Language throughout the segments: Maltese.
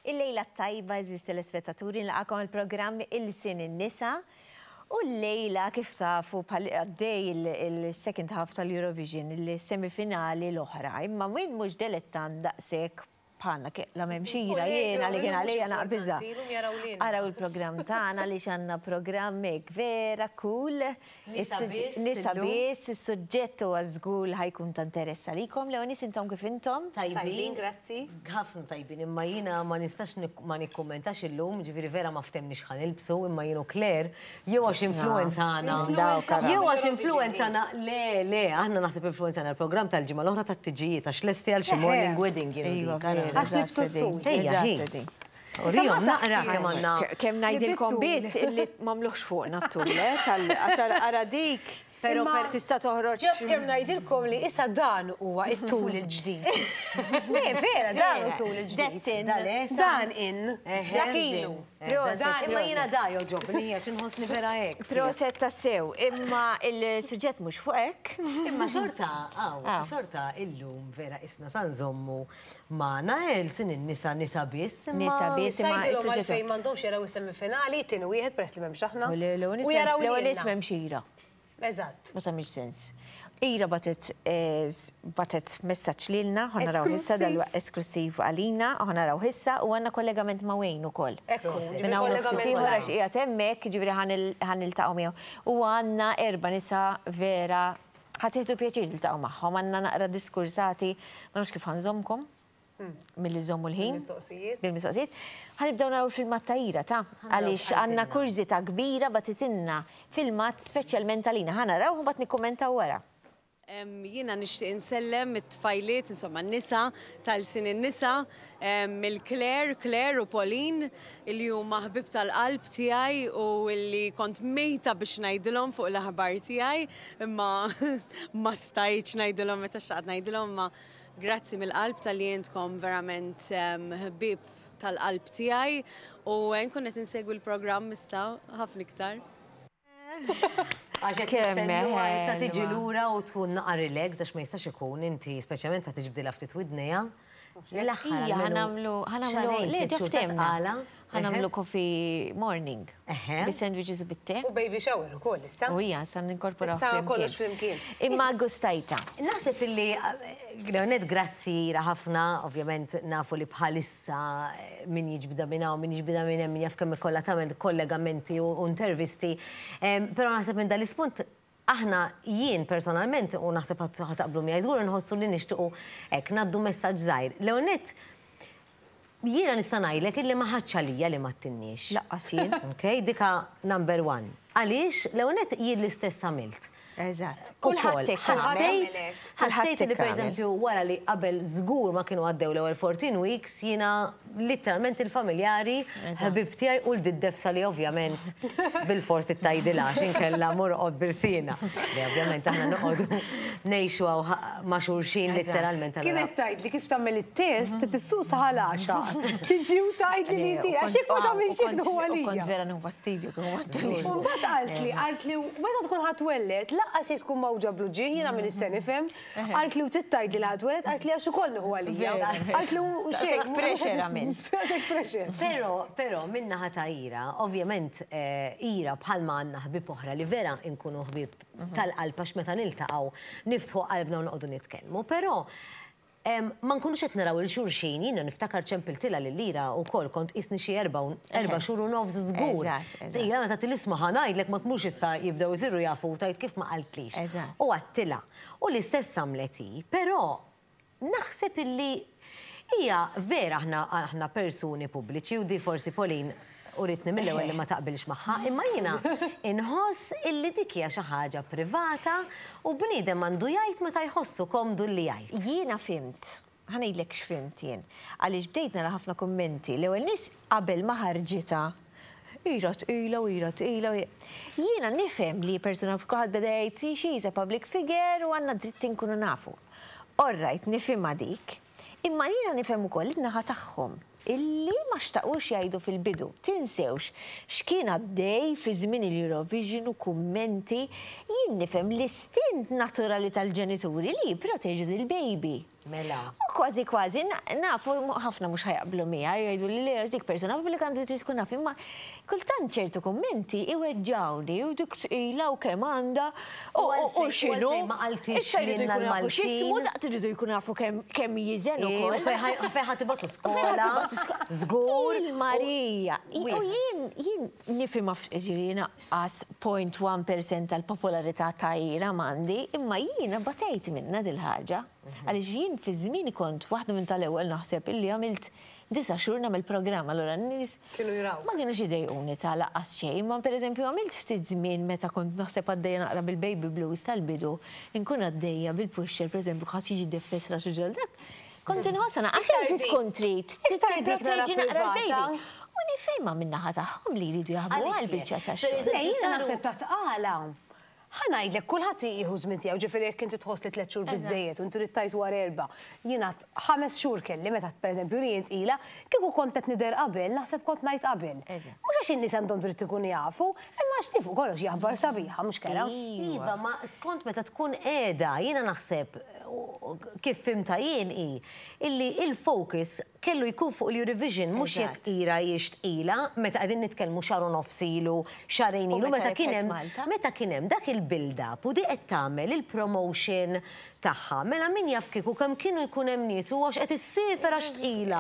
Il-lejla t-tajba, għeżież telespettaturi, nilqagħkom għall-programm Ilsien in-Nisa. U llejla kif tafu bħal għaddej il-second half tal-Eurovision, il-semifinali l-oħra. Imma min mhux delettant daqshekk bħalna, la m'hemmx ira jiena li kien għalija naqbiżha. Araw il-programm tagħna għaliex għandna programm hekk vera cool. Nisa biss. Nisa biss, is-suġġett huwa żgur li ħa jkun ta' interess għalikom. Leonis intom kif intom? Tajbin, grazzi. Ħafna tajbin, imma jiena ma nistax ma nikkummentax illum, ġifieri vera ma ftehmniex x'ħa nilbsu, imma jien u Claire, jew għax influwenzana, jew għax influwenzana, le, le, aħna naħseb influwenzana l-programm tal-ġimgħa l-oħra tat-tiġijiet għax lesti għal xi morning wedding jien u dik. Għax libsu t-tul. Ejja, hi. Urihom naqra kemm għandna. Kemm ngħidilkom biss illi m'għamluhx fuqna t-tul, eh, tal għax ara dik. Pero Imma tista' toħroġ. Just kemm ngħidilkom li issa dan huwa t-tul il-ġdid. Le, vera, dan hu t-tul il-ġdid. That's in. Dan in. Dak ilu. Proset. Imma jiena da jogħġobni għax inħossni vera hekk. Proset tassew. Imma il-suġġett mhux fuq hekk. Imma xorta, hawn, xorta illum vera isna sa nżommu magħna Elsin in-nisa nisa biss. Nisa biss imma. Ngħidilhom għalfejn m'għandhomx jaraw is-semifinali, it-tieni wieħed peress li m'hemmx aħna. U jaraw L-ewwel nies m'hemmx ira. Eżatt. Ma tagħmilx sens. Ira bagħtet bagħtet messaġġ lilna, ħa naraw issa dal-waqt esklussiv għalina, ħa naraw issa u għandna kollegament ma' Wayne ukoll. Ekku, Minn hawn u ftit ieħor għax qiegħed hemmhekk, jiġifieri ħa niltaqgħu miegħu. U għandna erba' nisa vera ħa tieħdu pjaċir tiltaqgħu magħhom, għandna naqra diskursati, ma nafx kif ħa nżommkom. Milli żommu l-ħin. Bil-mistoqsijiet. Bil-mistoqsijiet. Ħa nibdew naraw il-filmat ta' Ira, ta' għaliex għandna kurżità kbira bagħtitilna filmat speċjalment għalina. Ħa naraw u mbagħad nikkummentaw wara. Jiena nixtieq insellem it-tfajliet, insomma n-nisa tal-Sin in-Nisa, il-Claire, Claire u Pauline, illi huma ħbieb tal-qalb tiegħi u illi kont mejta biex ngħidilhom fuq l-aħbar tiegħi, imma ma stajtx ngħidilhom meta xtaqt ngħidilhom, imma Grazzi mill-qalb talli intkom verament ħbieb tal-qalb tiegħi u nkun qed insegwi l-programm issa ħafna iktar. Għax qed nistennuha issa tiġi lura u tkun naqa' relaxed għax ma jistax ikun inti speċjalment ta' tiġbdilha ftit widnejha. L-aħħar Ija, ħa nagħmlu, ħa nagħmlu, le ġa ftehmna. Ħa nagħmlu coffee morning. Bis-sandwiches u bit-te. U baby shower ukoll issa. U hija, sa ninkorporaw Issa kollox flimkien. Imma gustajta. Naħseb illi, Leonet, grazzi Ira ħafna, ovvjament nafu li bħalissa min jiġbidha minn hawn, min jiġbidha minn hemm, min jaf kemm ikollha tagħmel kollegamenti u intervisti. Però naħseb minn dal-ispunt Aħna, jien personalment, u naħseb ħa taqblu miegħi żgur, inħossu li nixtiequ hekk, ngħaddu messaġġ żgħir. L-ewwel nett, jiena nista' ngħidlek illi ma ħadtx għalija li m'għadtinniex. Lanqas jien. Ok, dika number one. Għaliex, l-ewwel nett jien l-istess għamilt. Eżatt. Kulħadd hekk għamel. Ħassejt li pereżempju wara li qabel żgur ma kienu għaddew l-ewwel 14 weeks jiena litteralment il-familjari, ħbieb tiegħi u l-diddefsa li ovvjament bilfors trid tgħidilha għax inkella mur oqgħod b'irsiena. Li ovvjament aħna noqogħdu ngħixu hawn ma' xulxin litteralment. Kienet tgħidli kif tagħmel it-test trid issuq sa ħal-għaxa. Tiġi u tgħidli li inti għax jekk ma tagħmilx hekk nieħu għalija. U kont vera nieħu fastidju kieku ma tgħidlix. U mbagħad qaltli, qaltli meta tkun ħa twelled lanqas jekk tkun mgħawġa bl-uġigħ jiena m'iniex se nifhem. Qaltli u trid tgħidli li ħa twelled, qaltli għax ukoll nieħu għalija. Qaltli u xejn. Daqshekk pressure għamilt. Daqshekk pressure. Però, però min-naħa ta' Ira, ovvjament Ira bħalma għandna ħbieb oħra li vera nkunu ħbieb tal-qalb għax meta niltaqgħu niftħu qalbna u noqogħdu nitkellmu, però Ma nkunux qed naraw 'il xulxin, jiena niftakar ċempiltilha lil Ira wkoll kont qisni xi erba' erba' xhur u nofs żgur. Ira meta tgħidli isma' ħa ngħidlek ma tmurx issa jibdew isiru jafu u tgħid kif ma qaltlix. U għedtilha. U l-istess għamlet hi, però naħseb illi hija vera aħna aħna persuni pubbliċi u di forsi Pauline Uritni mill-ewwel li ma taqbilx magħha, imma jiena inħoss illi dik hija xi ħaġa privata u bniedem għandu jgħid meta jħossu komdu li jgħid. Jiena fhimt, ħa ngħidlek x'fhimt jien, għaliex bdejt nara ħafna kummenti, l-ewwel nies qabel ma ħarġitha, ira tqila u ira tqila u Jiena nifhem li persuna kulħadd beda jgħid she is a public figure u għandna dritt inkunu nafu. All right, nifhimha dik. Imma jiena nifhem ukoll in-naħa tagħhom illi ma xtaqux jgħidu fil-bidu. Tinsewx x'kien għaddej fi żmien il-Eurovision u kummenti, jien nifhem l-istint naturali tal-ġenituri li jipproteġu lill-baby. Mela. U kważi kważi nafu ħafna mhux ħa jaqblu miegħi jgħidu li le dik persuna pubblika għandha trid tkun naf imma kultant ċertu kummenti iweġġgħuni u dik tqila u kemm għandha u x'inhu. Ma qaltix Issa jridu jkunu jafu x'ismu daqt iridu jkunu jafu kemm jiżen ukoll. Fejn ħa tibgħatu skola. Żgur. Il-Marija. U jien jien nifhimha ġifieri jiena qas 0.1% tal-popolarità ta' Ira m'għandi, imma jiena batejt minnha dil-ħaġa. Għaliex jien fi żmieni kont waħda minn tal-ewwel naħseb illi għamilt disa' xhur nagħmel programm, allura n-nies Kienu jrawk. ma kinux idejquni ta' lanqas xejn, imma pereżempju għamilt ftit żmien meta kont naħseb għaddejja naqra bil-baby blues tal-bidu, inkun għaddejja bil-pusher pereżempju ħadd jiġi defes rasu ġol dak, kont inħossha naqra għax inti tkun trid tipproteġi naqra l-baby. U nifhimha min-naħa tagħhom li jridu jaħbu għall-biċċa tax-xogħol. Le, jiena naħseb ta' tqala. Ħa ngħidlek, kulħadd jieħu żmien tiegħu, ġifieri jekk inti tħoss li tliet xhur biżżejjed u inti trid tgħid wara erbgħa. Jiena ħames xhur kelli meta pereżempju li jien tqila, kieku kont qed nidher qabel, naħseb kont ngħid qabel. Mhux għax in-nies għandhom dritt ikunu jafu, imma għax tifu kollox hi aħbar sabiħa, mhux kera? Iva, ma skont meta tkun qiegħda, jiena naħseb kif fhimtha jien hi illi il-focus kellu jkun fuq l-Eurovision mhux jekk Ira hijiex tqila meta qegħdin nitkellmu xahar u nofs ilu, xahrejn ilu meta kien hemm meta kien hemm dak il-build up u di qed tagħmel il-promotion tagħha. Mela min jaf kieku kemm kienu jkun hemm nies u għax qed issiefer għax tqila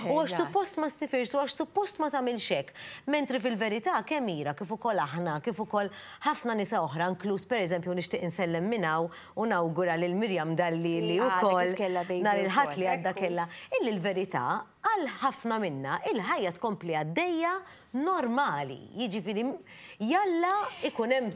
u għax suppost ma ssifirx u għax suppost ma tagħmilx hekk. Mentri fil-verità kemm Ira kif ukoll aħna kif ukoll ħafna nisa oħra inkluż pereżempju nixtieq insellem minn hawn u nawgura lil Miriam Dalli li wkoll nhar il-Ħadd li għadda kellha illi l-verità għal ħafna minna il-ħajja tkompli għaddejja normali. Jiġifieri jalla ikun hemm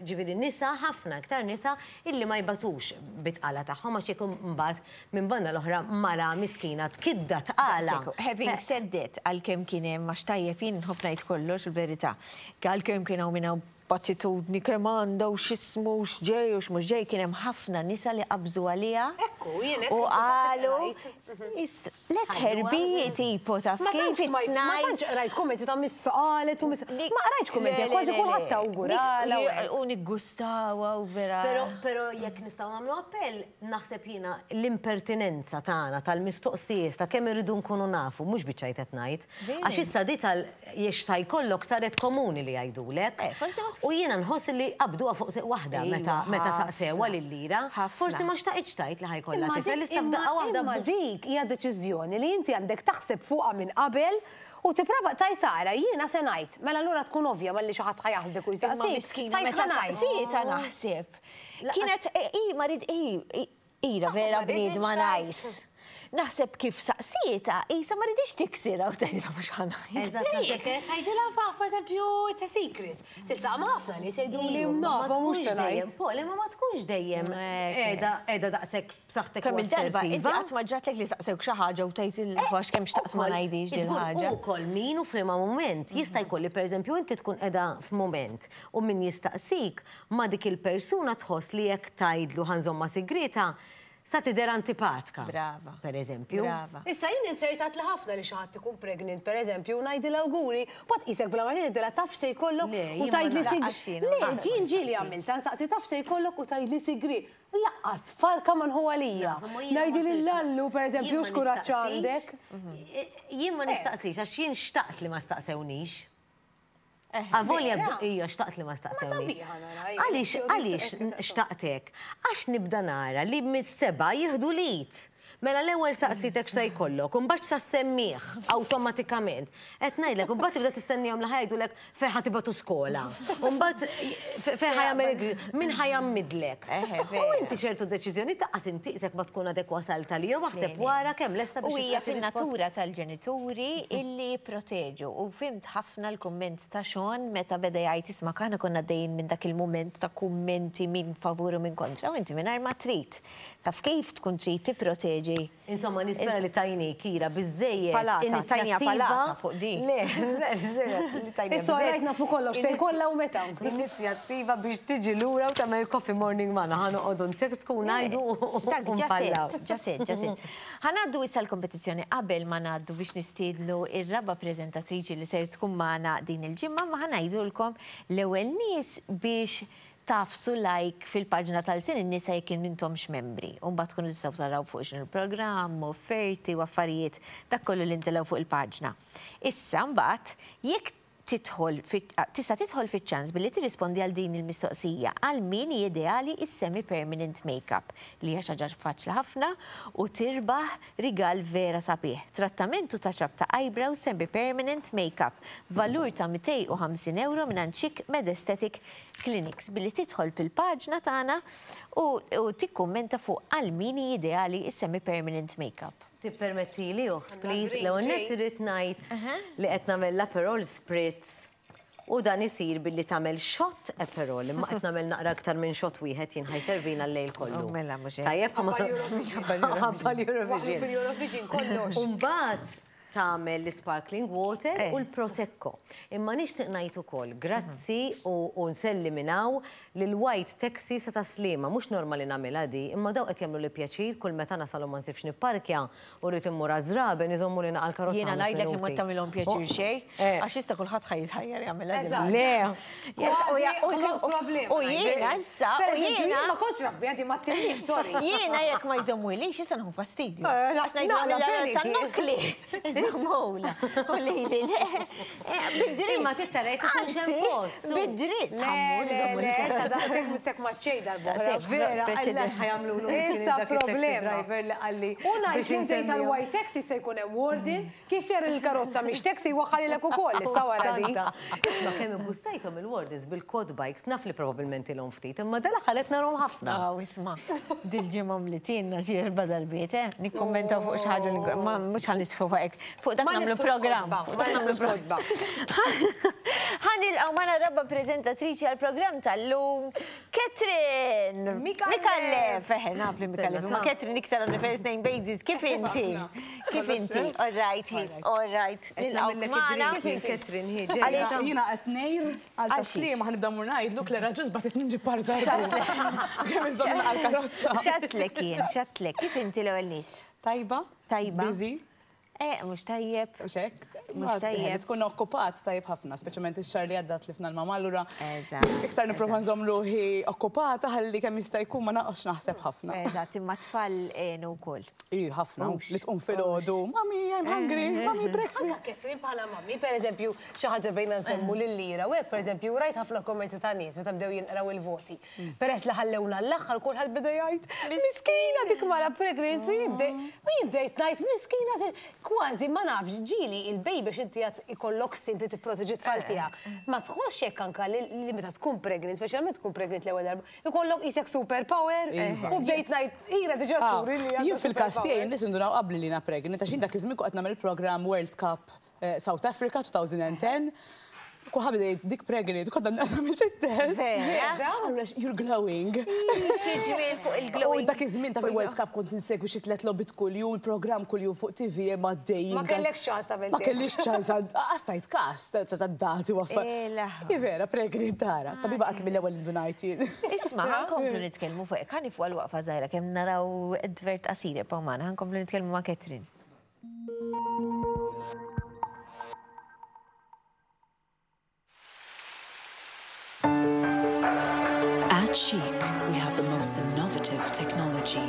ġifieri nisa ħafna iktar nisa illi ma jbatux bit-tqala tagħhom għax jekk imbagħad minn banda l-oħra mara miskina tkidda tqala. Having said that, għalkemm kien hemm għax tajjeb jien nħobb ngħid kollox il-verità. Għalkemm kien hawn min hawn b'attitudni kemm għandha u x'ismu u x'ġej u x'mhux ġej, kien hemm ħafna nisa li qabżu għaliha Ekku, jien hekk u fil-fatt qalu qrajt. let her be tipo taf Ma kif tantx it's smajt, ma nice. tantx qrajt kummenti ta' missa qalet u missa. Ma qrajtx kummenti, kważi kulħadd tawgurala u hekk. U niggustawha u vera. Però, però jekk nistgħu nagħmlu appell, naħseb jiena l-impertinenza tagħna tal-mistoqsijiet ta' kemm irridu nkunu nafu, mhux biċ-ċajt qed ngħid. Għax issa di tal jiex ta' jkollok saret komuni li jgħidulek. Forsi ma U jiena nħoss li qabduha fuq seq waħda meta meta saqsewha lil Ira. Forsi ma xtaqitx tgħid li ħa jkollha tifel issa f'daqqa waħda. Imma dik hija deċiżjoni li inti għandek taħseb fuqha minn qabel u tipprova tgħid tara jiena se ngħid. Mela allura tkun ovvja malli xi ħadd ħa jaħsdek u Imma jsaqsik. miskina Tgħid meta ħa ngħid. saqsietha naħseb. Kienet i ma rid i Ira vera ma riditx bniedma tgħid. nice. Naħseb kif saqsietha, isa ma riditx tiksirha u tgħidilha mhux ħa ngħid. Eżatt, naħseb Kienet tgħidilha fa pereżempju it's a secret. Tiltaqa' ma' ħafna nies jgħidu li Iju, ma nafa mhux tkunx se dejjem, ngħid. Paul, imma ma tkunx dejjem qiegħda qiegħda daqshekk b'saħħtek u Kemm il-darba inti assertiva. qatt ma ġratlek li saqsewk xi ħaġa u tgħid il-ħox kemm xtaqt ma ngħidix din ħaġa. U kol min u f'liema mument jista' jkolli pereżempju inti tkun qiegħda f'mument u min jistaqsik ma dik il-persuna tħoss li jekk tgħidlu ħa nżommha sigrita sa tidher antipatka. Brava. Per eżempju. Brava. Issa jien insertat li ħafna li xi ħadd ikun pregnant, per eżempju, u ngħidilha awguri, mbagħad qisek bla ma tgħidilha taf se jkollok Le, u jien ma tgħidli naqas sigri. jiena, Le, ma naqas ġien ġieli għamilta, nsaqsi taf se jkollok u tgħidli sigri. Laqqas, farka ma nħu għalija. Naf, imma jiena ma Ngħidi sirx- lil Lallu, per eżempju, jien ma x'kuraġġ nistaqsix. għandek. Jien ma nistaqsix għax jien xtaqt li ma staqsewnix. Avolja ija xtaqt li ma staqsewni. sabiħa nara, hija. Għaliex, għaliex xtaqtek? Għax nibda nara li mis-seba jieħdu lit. Mela l-ewwel saqsitek x'se jkollok, u mbagħad sa semmih awtomatikament. Qed ngħidlek, u mbagħad tibda tistennihom li ħa jgħidulek fejn ħa tibgħatu skola. U mbagħad fejn ħa jagħmel min ħa jgħammidlek. U inti ċertu deċiżjoni taqqas inti qisek ma tkun għadek wasalt għalihom aħseb wara kemm lesta U biex hija tagħti risposta. fin-natura tal-ġenituri illi jipproteġu. U fhimt ħafna l-kumment ta' Sean meta beda jgħid isma' aħna konna għaddejjin minn dak il-mument ta' kummenti min favur u min kontra u inti mingħajr ma trid. Taf kif tkun trid tipproteġi. Insomma, nispera li tajni Kira biżejjed. Palata, tajnija inizjattiva. palata fuq di. Le, li tajnija Issa biżejjed. rajtna fuq kollox, se jkollha u meta. Inizjattiva biex tiġi lura u tagħmel coffee morning magħna ħa noqogħdu ntekstku u ngħidu u Dak, npallaw. ġaset, ġaset, ġaset. Ħa ngħaddu issa l-kompetizzjoni qabel ma ngħaddu biex nistiednu ir-raba' preżentatriċi li ser tkun magħna din il-ġimgħa, ma ħa ngħidulkom l-ewwel nies biex Tagħfsu like fil-paġna ta' Lsien in-Nisa jekk m'intomx membri. U mbagħad tkunu tistgħu taraw fuq x'inhu l-programm, offerti u affarijiet, dak kollu li ntelgħu fuq il-paġna. Issa mbagħad jekk tidħol fi, tista' tidħol fiċ-ċans billi tirrispondi għal din il-mistoqsija, għal min hi ideali s-semi-permanent make-up, li hija xi ħaġa faċli ħafna u tirbaħ rigal vera sabiħ. Trattament u touch-up ta' eyebrows semi-permanent make-up, valur ta' 250 ewro mingħand Chic Med Aesthetic Clinics billi tidħol fil-paġna tagħna u tikkummenta fuq għal min hi ideali s-semi-permanent make-up. Tippermettili oħt please, l-ewwel nett irrid ngħid li qed nagħmel l-Aperol Spritz u dan isir billi tagħmel shot Aperol imma qed nagħmel naqra aktar minn shot wieħed jien ħa jservina l-lejl kollu. Mela mhux hekk. Tajjeb ħabba l-Eurovision. Fil-Eurovision kollox. U mbagħad tagħmel l-sparkling water u l-prosecco. Imma nixtieq ngħid ukoll grazzi u nselli minn hawn lil White Taxi sa Tas-Sliema. Mhux normali nagħmilha di, imma dawn qed jagħmluli pjaċir kull meta nasal u ma nsibx nipparkja u rrid immur għaż-żraben iżommuli naqa' l-karozza Jiena ħames ngħidlek li ma minuti. tagħmilhom pjaċir xejn, għax issa kulħadd ħa jitħajjar jagħmilha din Eżatt. Le. Kważi U jiena issa, u jiena. Ma kontx naf biha di ma ttilniex, sorry. Jiena jekk ma jżommulix issa nħu fastidju. Eh, Għax ngħidu naqla tan panic. nokli. Iżommula. U li li le. Eh, Bid-dritt. Imma tittara jekk ikunx hemm Anzi, post. Bid-dritt. Le, ħammur, le, iżommuli le, l-karozza. issa daqshekk mistek ma ċej dal-boħra. Daqshekk. Vera, Speċi għallax ħajamlu Issa problema. driver li qalli. U ngħid biex li ntejn insemmihom. tal-white taxi se jkun hemm warden, kif jara l-karozza mhix taxi waħħalilek ukoll issa wara di. Tanta. Isma' kemm iggustajthom il-wardens bil-quad bikes, naf li probabbilment ilhom ftit, imma dal-aħħar qed narhom ħafna. Aw, isma', dil-ġimgħa mlitinna xi erba' darbiet, eh? Nikkummentaw fuq xi ħaġa li ma mhux ħa nidħlu fuq hekk. Fuq dak Ma nagħmlu niftux programm. kotba, Fuq ma dak nagħmlu niftux programm. Ħa nilqgħu magħna raba' preżentatriċi għall-programm tal-lum, Catherine! Micallef! Micallef! Eħe, naf li Micallef. Ma Catherine iktar on the first name basis. Kif inti? Kif inti? All right, hi, all right. Nilqgħu magħna. Kif Catherine hi Għaliex ġejja. Jiena qed ngħir għal taslima ħa nibda mmur ngħidlu Clara ġust bagħtet nġib par żarbun. Kemm iżomm għall-karozza. X'għedtlek jien, x'għedtlek. Kif inti l-ewwel nies? Tajba? Tajba. Busy? Eh, mhux tajjeb. Mhux hekk? Mhux tajjeb. Li tkun okkupat tajjeb ħafna, speċjalment ix-xahar li għadda tlifna l-mama allura. Eżatt. Iktar nipprova nżomm ruħi okkupata ħalli kemm jista' jkun ma naqgħodx naħseb ħafna. Eżatt, imma tfal għenu wkoll. Ij, ħafna. Li tqum filgħodu, mami, I'm hungry, mami, breakfast. Anka Catherine bħala mami, per eżempju, xi ħaġa bejna nsemmu lil Lira, u hekk pereżempju rajt ħafna kommenti ta' nies meta bdew jinqraw il-voti. Peress li ħallewna l-aħħar kulħadd beda jgħid, miskina dik mara pregnant, u jibda u jibda jgħid miskina kważi ma nafx ġieli il-baby x'inti għad ikollok stint li tipproteġi t-tfal tiegħek. Ma tħossx hekk anka li meta tkun pregnant, speċjalment tkun pregnant l-ewwel darba, ikollok qisek superpower u bdejt ngħid ira diġà turi li Jien għandha fil-każ tiegħi superpower. n-nies indunaw qabli li jiena pregnant għax jien dak iż-żmien kont qed nagħmel il-programm World Cup South Africa 2010. Kulħadd beda jgħid dik pregnant, kont għamilt it-test. Vera? Għamlu You're glowing. Xi ġmiel fuq U il-glowing. dak iż-żmien ta' fil-World Cup kont insegwi xi tliet logħbiet kuljum, il-programm kuljum fuq TV ma għaddejjin. Ma kellekx ċans tagħmel Ma test. kellix ċans, għastajt kas ta' dati u affarijiet. Eh, laħwa. Hi vera, pregnant tara. Tabiba qalt mill-ewwel indunajt jien. Isma, ħa nkomplu nitkellmu fuq hekk, ħa nieqfu għal waqfa żgħira kemm naraw advert qasir ibqgħu magħna, ħa nkomplu nitkellmu ma' Catherine. At Chic, we have the most innovative technology,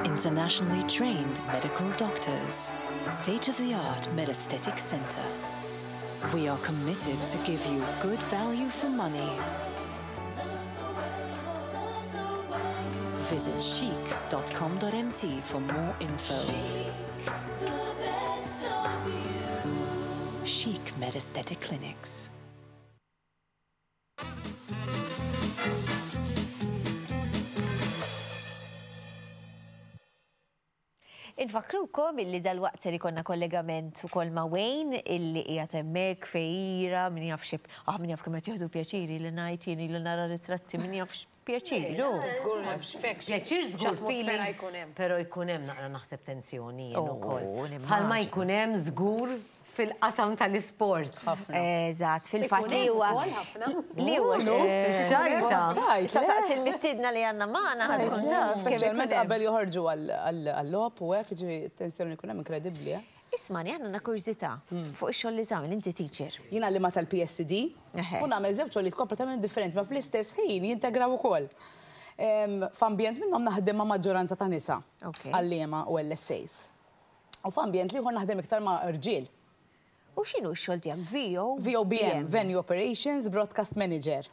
internationally trained medical doctors, state-of-the-art MedAesthetic center. We are committed to give you good value for money. Visit chic.com.mt for more info. Chic MedAesthetic Clinics. Infakkrukom illi dal-waqt ser ikollna kollegament ukoll ma' Wayne illi qiegħed hemmhekk fejira min jaf xi ah min jaf kemm qed jieħdu pjaċiri li ngħid jien ilu nara ritratti min jaf x'pjaċir hu. Żgur m'hemmx fekx. Pjaċir żgur X'atmosfera feeling, jkun hemm. Però jkun hemm naqra naħseb tensjoni jien Oh, ukoll. nimmaġina. Bħalma jkun hemm żgur fil-qasam tal-isports. Eżatt, fil-fatt li huwa. Li huwa ċarta. Issa saqsi l-mistiedna li għandna magħna ħa tkun taf. Speċjalment qabel joħorġu għal-logħob u hekk, ġifieri t-tensjoni li jkun hemm inkredibbli. Ismani, aħna għandna kurżità fuq ix-xogħol li tagħmel, inti teacher. Jien għalliema tal-PSD u nagħmel żewġ xogħlijiet kompletament differenti ma fl-istess ħin jintegraw ukoll. F'ambjent minnhom naħdem ma' maġġoranza ta' nisa, għalliema u LSAs. U f'ambjent l-ieħor naħdem iktar ma' rġiel. U x'inhu x-xogħol tiegħek? VO? VOBM, Venue Operations Broadcast Manager.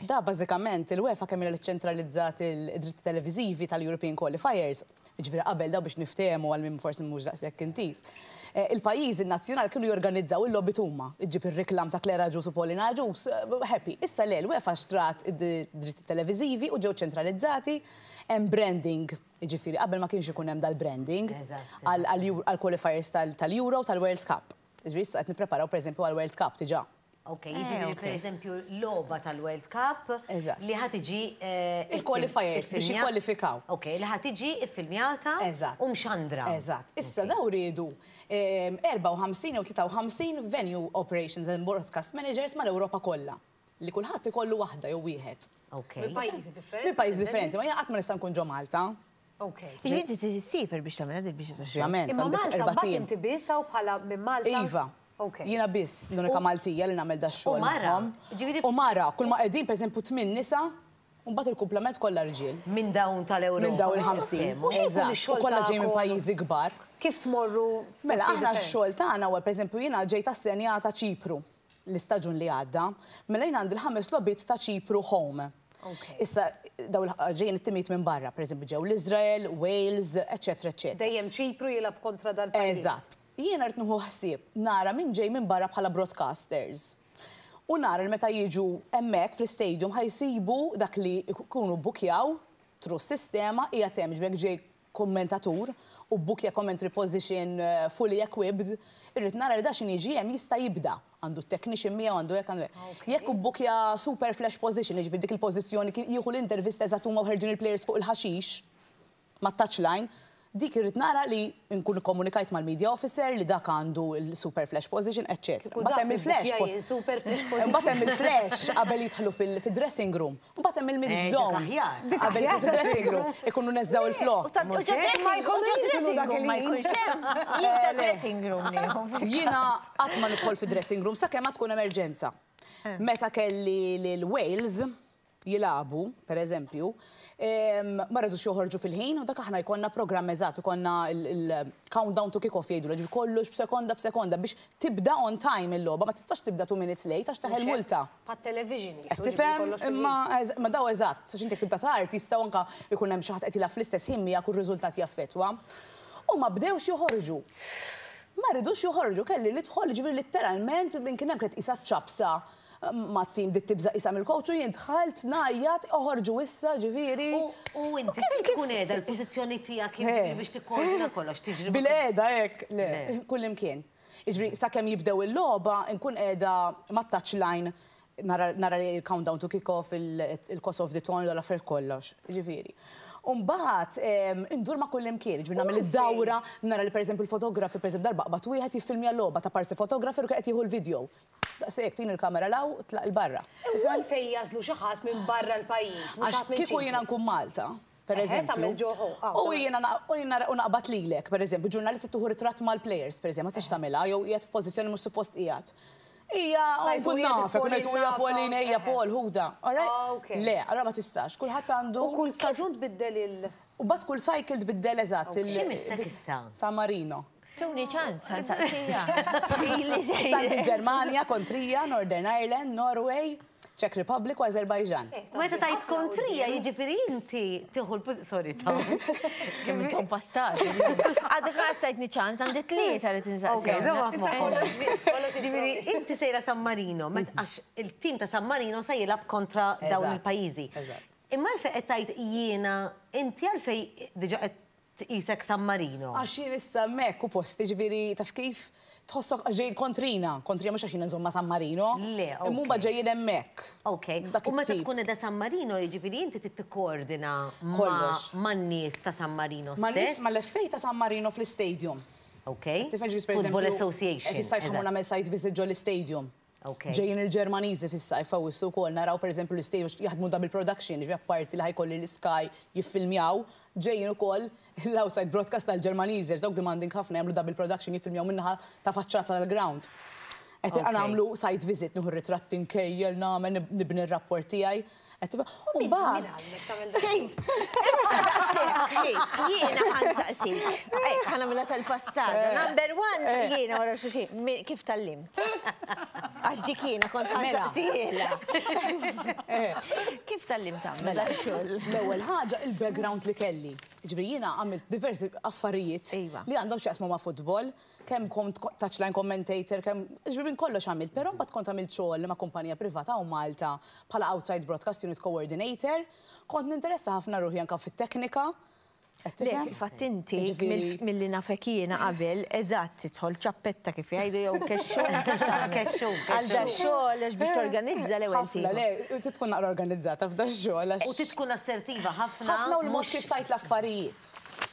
Da bażikament il-UEFA kemm ilha li ċċentralizzat id-dritti televiżivi tal-European Qualifiers, jiġifieri qabel daw biex niftehmu għal min forsi mhux daqshekk intiż. Il-pajjiżi n-nazzjonali kienu jorganizzaw il-logħbiet huma, iġġib ir-riklam ta' Claire Agius u Pauline Agius, happy. Issa le, l-UEFA xtrat id-dritti televiżivi u ġew ċentralizzati, hemm branding, jiġifieri qabel ma kienx ikun hemm dal-branding għall-qualifiers tal-Euro u tal-World Cup. Jiġifieri issa qed nippreparaw pereżempju għall-World Cup diġà. Ok, jiġifieri pereżempju logħba tal-World Cup li ħa tiġi Il-qualifiers biex jikkwalifikaw. Ok, li ħa tiġi iffilmjata u mxandra. Eżatt. Issa dawn riedu 54 jew 53 venue operations and broadcast managers mal-Ewropa kollha. Li kulħadd ikollu waħda jew wieħed. Ok. Minn pajjiżi differenti. Minn pajjiżi differenti, ma jiena qatt ma nista' nkun ġo Malta. Ok. Jiġifieri inti trid issiefer biex tagħmilha din il-biċċa ta' xogħol. Ovvjament, Imma għandek Malta erbat mbagħad ijiem. inti biss hawn bħala minn Malta? Iva. Ok. Jiena biss l-unika Maltija li nagħmel dax-xogħol U mara, magħhom. ġifieri U mara, kull ma qegħdin pereżempju tmien nisa, u mbagħad il-kumplament kollha rġiel. Minn dawn tal-Ewropa. Minn dawn il-50. U xi jkun Eżatt. ix-xogħol U kollha ġejjin minn tagħkom? pajjiżi kbar. Kif tmorru Mela postijiet aħna differenti? x-xogħol tagħna huwa pereżempju jiena ġejt assenjata Ċipru l-istaġun li għadda. Mela jien għandi l-ħames logħbiet ta' Ċipru home. Issa dawn ġejjin it-timijiet minn barra, pereżempju ġew l-Iżrael, Wales, eċetera, eċetera. Dejjem Ċipru jilgħab kontra dal-pajjiż. Eżatt. Jiena rrid nieħu ħsieb nara min ġej minn barra bħala broadcasters. U nara li meta jiġu hemmhekk fl-istadium ħa jsibu dak li jkunu bbukjaw through s-sistema qiegħed hemm, ġifieri jekk ġej kummentatur u bbukja commentary position fully equipped, irrid nara li da x'in jiġi hemm jista' jibda. Għandu t-technician miegħu, għandu hekk, għandu hekk. Jekk hu bbukja super flash position, jiġifieri dik il-pożizzjoni jieħu l-intervista eżatt huma u ħerġin il-players fuq il-ħaxix mat-touchline, dik irrid nara li nkun ikkomunikajt mal-media officer li dak għandu l-super flash position, eċċetera. Kieku Mbagħad dak hemm il-flash li bbukja jien super flash position. Mbagħad hemm il-flash qabel jidħlu fil-dressing room. Mbagħad hemm il-mix Eh, dik zone. aħjar. Qabel jidħlu fil-dressing room ikunu neżżaw il-flok. U ta' u ġo dressing u ġo dressing room ma jkunx hemm. Jien ta' dressing room nieħu. Jiena qatt ma nidħol fi dressing room sakemm ma tkun emerġenza. Meta kelli lil Wales jilagħbu, per eżempju, ma rridux joħorġu fil-ħin u dak aħna jkollna programm eżatt, ikollna il-countdown to kick-off jgħidu, ġifieri kollox b'sekonda b'sekonda biex tibda on time il-logħba, ma tistax tibda 2 minutes late għax teħel multa. Pat-television Qed tifhem? Imma ma daw eżatt, għax inti tibda tard jistgħu anke jkun hemm xi ħadd qed jilgħab fl-istess ħin miegħek u r-riżultat jaffettwa. U ma bdewx joħorġu. Ma rridux joħorġu, kelli li dħol, ġifieri letteralment minn kien hemm kienet qisha ċapsa ma' tim dit tibża' qisha mill-coach u jien dħalt ngħajjat oħorġu issa ġifieri. U inti kif tkun qiegħda l-pożizzjoni tiegħek jiġifieri biex tikkoordina kollox tiġri Bil-qiegħda hekk, le, kullimkien. Jiġri sakemm jibdew il-logħba nkun qiegħda mat-touchline nara li il-countdown to kick-off, il-cost of the ton, l-affarijiet kollox, ġifieri. U mbagħad indur ma' kullimkien, ġifieri nagħmel id-dawra, nara li pereżempju l-fotografi, pereżempju darba qbad wieħed jiffilmja l-logħba ta' parsi fotografer u qed jieħu l-video. Daqshekk tin il-kamera law tlaq il-barra. U għalfejn jażlu xi ħadd minn barra l-pajjiż, mhux Għax ħadd minn kieku Ċipru. jiena nkun Malta, per Eħe, eżempju. tagħmel ġo ħo, U jiena u jiena u naqbad lilek, per eżempju, ġurnalista tieħu ritratt mal-players, per eżempju, ma tistax tagħmilha, jew qiegħed f'pożizzjoni mhux suppost qiegħed. Ija, Tajtu nkun hija nafek, Pauline ngħidu hija nafa. Pauline, ejja Eħe. Paul, ħuda. All right? Ah, ok. Le, allora ma tistax, kulħadd għandu. U kull staġun tbiddel il- U bat kull cycle tbiddel eżatt. Xi missek issa? San Marino. Tuni ċans, ħansaqsija. Ili Issa għandi Ġermanja, kontrija, Northern Ireland, Norway, Czech Republic u Azerbaijan. Meta tajt kontrija, jiġifieri inti tieħu l Sorry, ta' Kemm intom pastat. Għadek ma stajtni ċans, għandi tlieta li tinsaqsi. Ok, żomma f'moħħok. Ġifieri inti sejra San Marino, met għax il-tim ta' San Marino se jilgħab kontra dawn Eżatt, il-pajjiżi. eżatt. Imma għalfejn qed tgħid jiena, inti għalfejn diġà qed tqisek San Marino. Għax jien issa hemmhekk u posti, ġifieri taf kif tħossok għax ġejjin kontrina, kontrina mhux għax jien nżomm ma' San Marino. Le, ok. Imma huma ġejjin hemmhekk. Ok, Dak u meta it-tip. tkun qiegħda San Marino, jiġifieri inti trid tikkoordina Kollox. man-nies ta' San Marino Ma' nies stess. mal-FA ta' San Marino fl-istadium. Ok. Football Association. Fis-sajf ħa mmur nagħmel site visit ġol-istadium. Ok. Ġejjin il-Ġermaniżi fis-sajf Awwissu wkoll naraw pereżempju l-istadium jaħdmu double production, jiġifieri apparti li ħa jkolli l-Sky jiffilmjaw, ġejjin ukoll l-outside broadcast tal-Ġermaniżi għax dawk demanding ħafna jagħmlu double production jiffilmjaw min-naħa ta' faċċata tal-ground. Qed nagħmlu site visit, nieħu r-ritratti nkejjel, nagħmel, nibni r-rapport tiegħi. U mbagħad. Issa daqshekk, jiena ħa nsaqsik. Hekk ħa nagħmilha tal-passata. Number one, jiena wara xulxin, kif tgħallimt? Għax dik jiena kont ħa nsaqsihielha. Kif tgħallimt tagħmel dax-xogħol? L-ewwel ħaġa il-background li kelli. Jiġifieri jiena għamilt diversi affarijiet li għandhom x'jaqsmu ma' futbol. Kemm kont touchline commentator, kemm, jiġifieri minn kollox għamilt, però mbagħad kont għamilt xogħol ma' kumpanija privata hawn Malta bħala outside broadcast unit coordinator. Kont ninteressa ħafna ruħi anke fit-teknika. Qed Le, tifhem? fil-fatt inti, Jiġifieri milli nafek jiena qabel, eżatt tidħol ċappetta kif jgħidu jew kexxun kif tagħmel. Kexxun, Għal dax-xogħol għax biex torganizza l-ewwel Ħafna, tieħu. le, trid tkun naqra organizzata f'dax-xogħol għax. U trid tkun assertiva ħafna. Ħafna u l-mod kif tgħid l-affarijiet.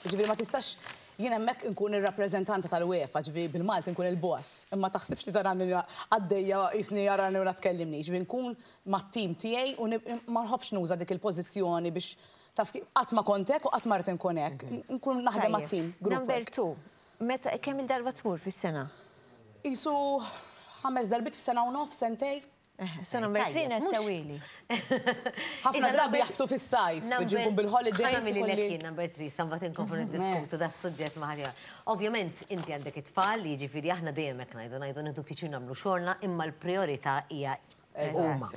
Jiġifieri ma tistax Jien hemmhekk inkun ir-rappreżentanta tal-UEFA, ġifieri bil-Malti nkun il-boss. Imma taħsibx li tarani għaddejja qisni jarani u la tkellimni. Ġifieri nkun mat-tim tiegħi u ma nħobbx nuża dik il-pożizzjoni biex taf kif, qatt ma kont hekk u qatt ma rrid inkun hekk. Nkun naħdem mat-tim, group work. Number two, meta kemm-il darba tmur fis-sena? Qisu ħames darbiet f'sena u nofs, sentejn. Sa number 3 nessewili. Ħafna drabi jaħbtu fis-sajf, ġinkun bil-holidays. Ħa nagħmililek jien number 3, sa mbagħad inkomplu niddiskutu das-suġġett ma' ħadd ieħor. Ovvjament inti għandek it-tfal, jiġifieri aħna dejjem hekk ngħidu, ngħidu nieħdu pjaċir nagħmlu xogħolna, imma l-prijorità hija huma.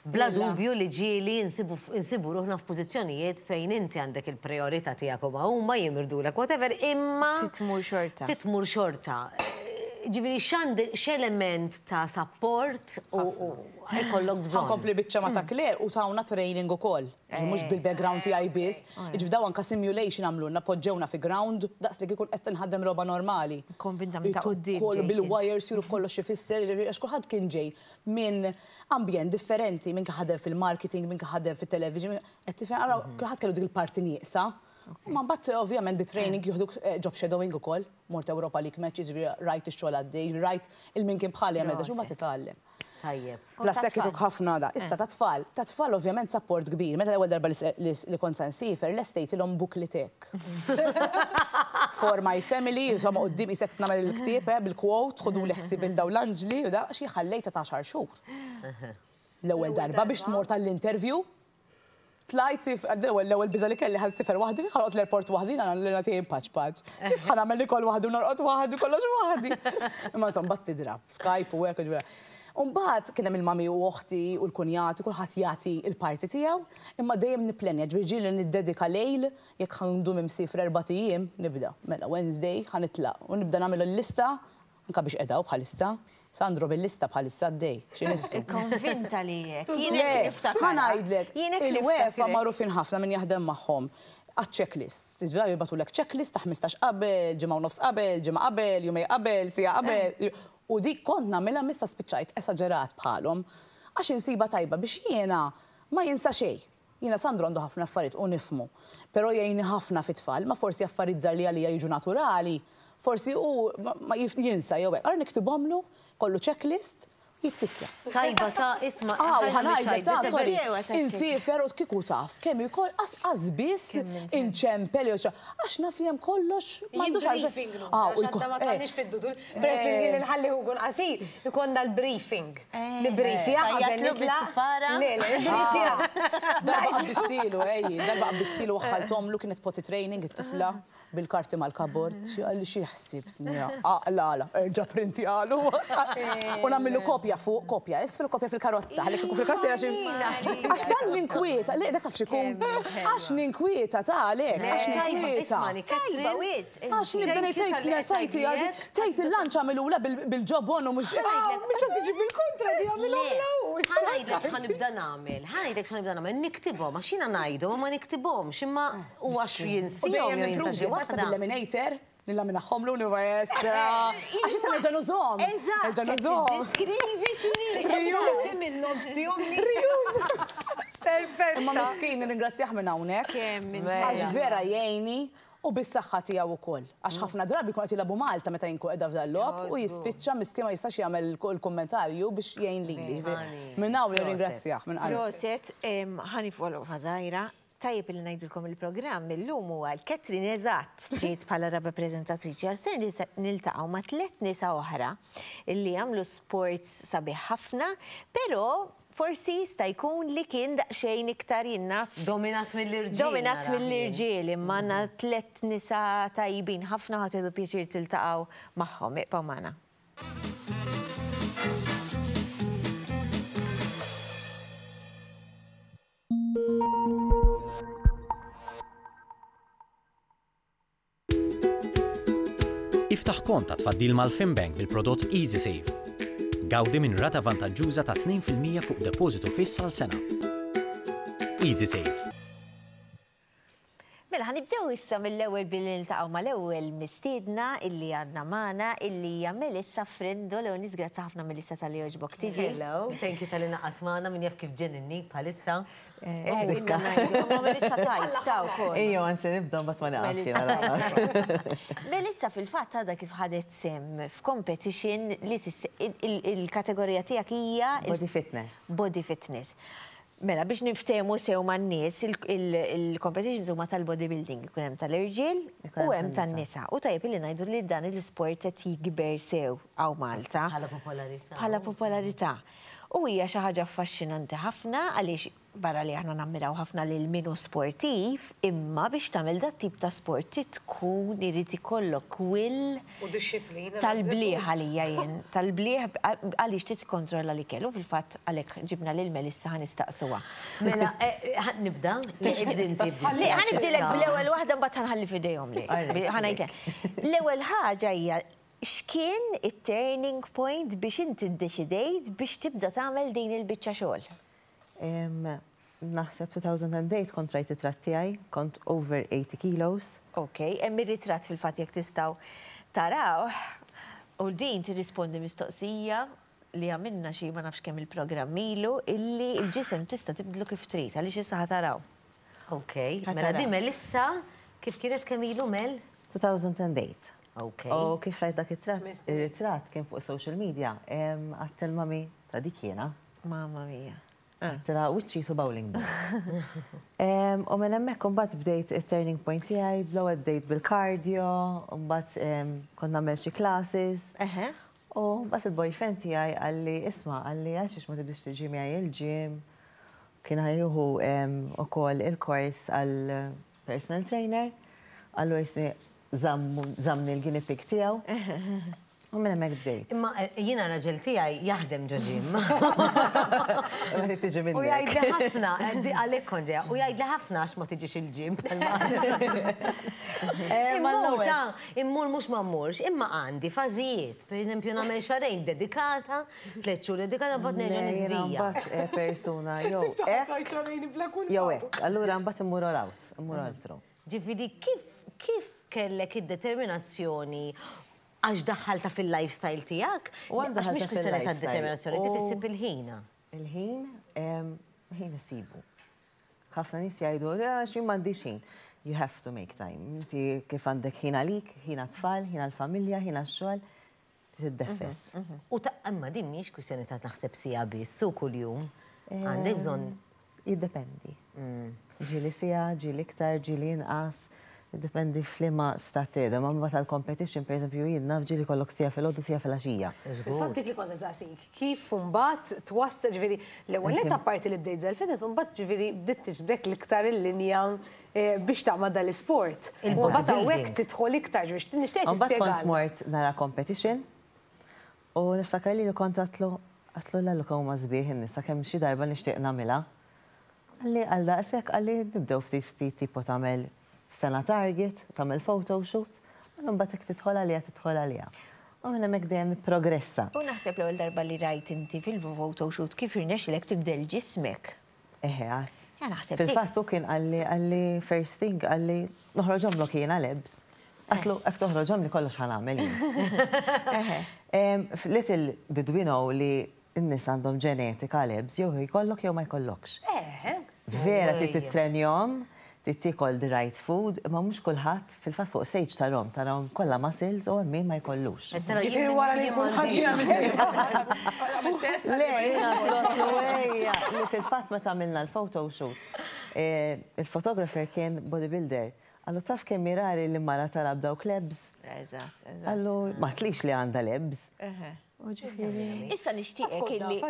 Bla dubju li ġieli nsibu ruħna f'pożizzjonijiet fejn inti għandek il-prijorità tiegħek huma huma jimirdulek whatever, imma. Titmur xorta. Titmur xorta. Ġifieri x'għand x'element ta' sapport u jkollok bżonn. Ħa nkompli biċċa ma' ta' Claire u tawna training ukoll. Ġifieri mhux bil-background tiegħi biss. Jiġifieri daw anke simulation għamlulna, poġġewna fi ground daqs li kieku qed tinħadem logħba normali. Konvinta minn ta' quddiem ġejt. Bil-wires juru kollox x'ifisser, jiġifieri għax kulħadd kien ġej minn ambjent differenti, min kien ħadem fil-marketing, min kien ħadem fit-television, qed tifhem, ara kulħadd kellu dik il-parti nieqsa. Imma mbagħad ovvjament bi training jieħduk job shadowing ukoll. Mort Europa League matches, jiġifieri rajt ix-xogħol għaddej, jiġifieri rajt il-min kien bħali jagħmel dak, u mbagħad titgħallem. Tajjeb. Plus hekk ituk ħafna da. Issa tat-tfal, tat-tfal ovvjament sapport kbir. Meta l-ewwel darba li kont se nsiefer, lestejtilhom booklet hekk. For my family, insomma quddiem qisek qed nagħmel il-ktieb, eh, bil-quote, ħuduli ħsieb il dawn l-anġli u da, għax jien ħallejtha ta' għaxar xhur. L-ewwel darba biex tmur tal-interview. Tlajt, l-ewwel l-ewwel biża' li kelli ħa nsifer waħdi, kif ħa noqgħod l-airport waħdi, jiena l-għana tiegħi mpaċpaċ. Kif ħa nagħmel nikol waħdi u norqod waħdi, kollox waħdi. Imma insomma mbagħad tidra, Skype u hekk, jiġifieri. U mbagħad kien hemm il-mami u oħti u l-kunjati, kulħadd jagħti l-parti tiegħu, imma dejjem nipplenja, ġifieri ġieli niddedika lejl, jekk ħa ndum imsiefra erbat ijiem, nibda. Mela Wednesday ħa nitlaq u nibda nagħmel il-lista Anka biex qed hawn bħalissa. Sandro bil-lista bħalissa għaddej. X'imissu? Konvinta li hekk. Jien Le, hekk niftakar. ħa ngħidlek, Jien hekk il-UEFA niftakar. magħrufin ħafna min jaħdem magħhom għaċ-checklists. Jiġifieri jibagħtulek checklist ta' 15 qabel, ġimgħa u nofs qabel, ġimgħa qabel, jumejn qabel, siegħa qabel. U dik kont nagħmilha m'issa spiċċajt esaġerat bħalhom. Għax insibha tajba biex jiena ma jinsa xejn. Jiena Sandro għandu ħafna affarijiet u nifhmu, però jgħinni ħafna fit-tfal, ma forsi affarijiet żgħar li għalija jiġu naturali, forsi hu ma jinsa jew hekk. Allura niktibhomlu, kollu checklist, jittikkja. Tajba ta' isma' Ah, u ħa ngħidlek ta' sorry, insiefer u kieku taf kemm ikoll qas biss inċempel jew xi għax naf li hemm kollox m'għandux għalfejn. Briefing room, għax għadna ma tgħannix fid-dudul, peress li l-ħin li nħalli hu jkun qasir, ikollna l-briefing. Nibbrifja qabel nitlaq. Le, le, nibbrifja. Darba qabbistilu, ejji, darba qabbistilu waħħalthomlu kienet potty training it-tifla bil-karti mal-kabord. Qalli xi ħsibtni, aqlala, erġa' printjalu. U nagħmillu kopja fuq, kopja isfel u kopja fil-karozza. Ħalli kieku fil-karozza għax għax tant ninkwieta, le dak taf x'ikun. Għax ninkwieta ta' għalhekk, għax ninkwieta. Tajba wisq. Għax nibda ngħid tgħid le sajti għadi, tgħid il-lunch għamilula bil-ġobon u mhux. Mista tiġi bil-kontra di għamilhomla hu. Ħa ngħidlek x'ħa nibda nagħmel, ħa ngħidlek x'ħa nibda nagħmel, niktibhom għax jiena ngħidhom u ma niktibhomx imma u għax jinsihom jew jinsa xi waħda. Bil-laminator, nillaminaħħomlu nibqa' issa. Għax issa nerġa' nużhom. Eżatt. Nerġa' nużhom. Diskrivi x'inhi. Reuse. Minnhom tihom li. Reuse. Perfetta. Imma miskin nirringrazzjah minn hawnhekk. Kemm Għax vera jgħinni. U bis-saħħa tiegħu wkoll. Għax ħafna drabi jkun qed jilagħbu Malta meta jien nkun qiegħda f'dan logħob u jispiċċa miskin ma jistax jagħmel il-kummentarju biex jgħin lili. Minn hawn nirringrazzjah minn qalbi. Proset, ħa niffollow żgħira. Tajjeb li ngħidulkom il-programm illum huwa l-Catherine eżatt ġiet bħala raba' preżentatriċi għal ser niltaqgħu ma' tlett nisa oħra illi jagħmlu sports sabiħ ħafna, però forsi jista' jkun li kien daqsxejn iktar jien naf. Dominat mill-irġiel. Dominat mill-irġiel, imma għandna tlett nisa tajbin ħafna ħa tieħdu pjaċir tiltaqgħu magħhom. Ibqgħu magħna. Iftaħ kont ta' tfaddil mal-FinBank bil-prodott EasySave. Gawdi minn rata vantaġġuża ta' 2% fuq depożitu fiss għal sena. EasySave. Mela ħa nibdew issa mill-ewwel billi niltaqgħu mal-ewwel mistiedna illi għandna magħna illi hija Melissa Frendo. L-ewwel nies grazzi ħafna Melissa talli għoġbok tiġi. Hello, thank you talli ngħaqadt magħna, min jaf kif ġenninnik bħalissa. Dikka. Ma Melissa tajt, ta' wkoll. Ejjew anzi nibda mbagħad ma nieqafx jiena lanqas. Melissa fil-fatt għadha kif ħadet sehem f'competition li il-kategorija tiegħek hija Body fitness. Body fitness. Mela, biex niftehmu sew man-nies, il-competitions huma tal-bodybuilding, ikun hemm tal-irġiel u hemm tan-nisa. U tajjeb illi ngħidu li dan l-isport qed jikber sew hawn Malta. Bħala popolarità. Bħala popolarità. U hija xi ħaġa affaxxinanti ħafna għaliex barra li aħna nammiraw ħafna lil min hu sportiv, imma biex tagħmel dat-tip ta' sport trid tkun irid ikollok will U dixxiplina. Tal-blieh għalija jien, tal-blieh għaliex trid tikkontrolla l-ikel u fil-fatt għalhekk ġibna lil Melissa ħa nistaqsuha. Mela, ħa nibda? Ibdi inti, ibdi. Le, ħa nibdilek bl-ewwel waħda mbagħad ħa nħalli f'idejhom li. Ħa ngħidlek. L-ewwel ħaġa hija x'kien it-turning point biex inti ddeċidejt biex tibda tagħmel din il-biċċa xogħol? Naħseb 2008 kont rajt it-tratt tiegħi, kont over 80 kilos. Ok, hemm ir-ritratt fil-fatt jekk tistgħu tarawh u din tirrispondi mistoqsija li għamilna xi ma nafx kemm il-programm ilu illi l-ġisem tista' tibdlu kif trid għaliex issa ħa taraw. Ok, mela din Melissa kif kienet kemm ilu Mel? 2008. Ok. U kif rajt dak it-tratt, ir-ritratt kien fuq social media, għedt il-mami ta' dik jiena. Mamma mia. Għedtilha wiċċi jisu bowling ball. U minn hemmhekk imbagħad bdejt it-turning point tiegħi, bl-ewwel bdejt bil-cardio, mbagħad kont nagħmel xi classes. U mbagħad il-boyfriend tiegħi qalli isma' qalli għalxiex ma tibdiex tiġi miegħi il-gym. Kien ħa jieħu ukoll il-kors għal personal trainer. Allura jisni żammni l-guinea pig tiegħu. U minn hemmhekk bdejt. Imma jiena raġel tiegħi jaħdem ġo gym. Ma tiġi minnek. U jgħidli ħafna, għalhekk kont ġejja, u jgħidli ħafna għax ma tiġix il-gym. Immur ta' immur mhux ma mmurx, imma għandi fażijiet. Per eżempju nagħmel xahrejn dedikata, tlett xhur dedikata mbagħad nerġa' niżvija. Mbagħad persuna jew hekk jew hekk. Allura mbagħad immur all out, immur all through. Ġifieri kif kif kellek id-determinazzjoni għax daħħaltha fil-lifestyle tiegħek? Għax mhix kwistjoni ta' determinazzjoni, trid issib il-ħin. Il-ħin, ħin issibu. Ħafna nies jgħidu, għax jien m'għandix ħin. You have to make time. Inti kif għandek ħin għalik, ħin għat-tfal, ħin għall-familja, ħin għax-xogħol, tiddeffes. U ta' imma din mhix kwistjoni ta' naħseb siegħa biss u kuljum. Għandek bżonn. Jiddependi. Ġieli siegħa, ġieli iktar, ġieli inqas. Jiddependi f'liema stat qiegħda. Ma mbagħad għall-competition, pereżempju, jien naf ġieli jkollok siegħa filgħodu, siegħa filgħaxija. Fil-fatt dik li kont insaqsik, kif imbagħad twassal, ġifieri l-ewwel nett apparti li bdejt bdal-fitness, imbagħad ġifieri bdiet tiġbdek l-iktar il-linja biex tagħmel dal-isport. U mbagħad hawnhekk tidħol iktar, ġifieri nixtieq Imbagħad kont tispjegalna. mort nara competition u niftakar li kont għedtlu, għedtlu Lallu kemm huma sbieħ in-nisa kemm xi darba nixtieq nagħmilha. Qalli għal daqshekk, qalli nibdew ftit ftit tipo tagħmel sena target, tagħmel photoshoot, u mbagħad jekk tidħol għaliha tidħol għaliha. U minn hemmhekk dejjem nipprogressa. U naħseb l-ewwel darba li rajt inti fil-photoshoot kif irnexxilek tibdel ġismek. Eħe, għad. Ja, naħseb dik. Fil-fatt hu kien qalli, qalli first thing, qalli noħroġhomlok jiena l-abs. Għedtlu hekk toħroġhomli kollox ħa nagħmel jien. Little did we know li n-nies għandhom ġenetika l-abs, jew jkollok jew ma jkollokx. Eħe. Vera trid tittrenjhom, Trid tiekol the right food, imma mhux kulħadd, fil-fatt fuq stage tarhom, tarahom kollha muscles u hemm min ma jkollux. Ġifieri wara li jkun Le, jiena propju ejja, li fil-fatt meta għamilna l-photoshoot, il-photographer kien bodybuilder. Qallu taf kemm hi rari li mara tara b'dawk l-abs? Eżatt, eżatt. Qallu ma tlix li għandha l-abs. Issa nixtieqek illi.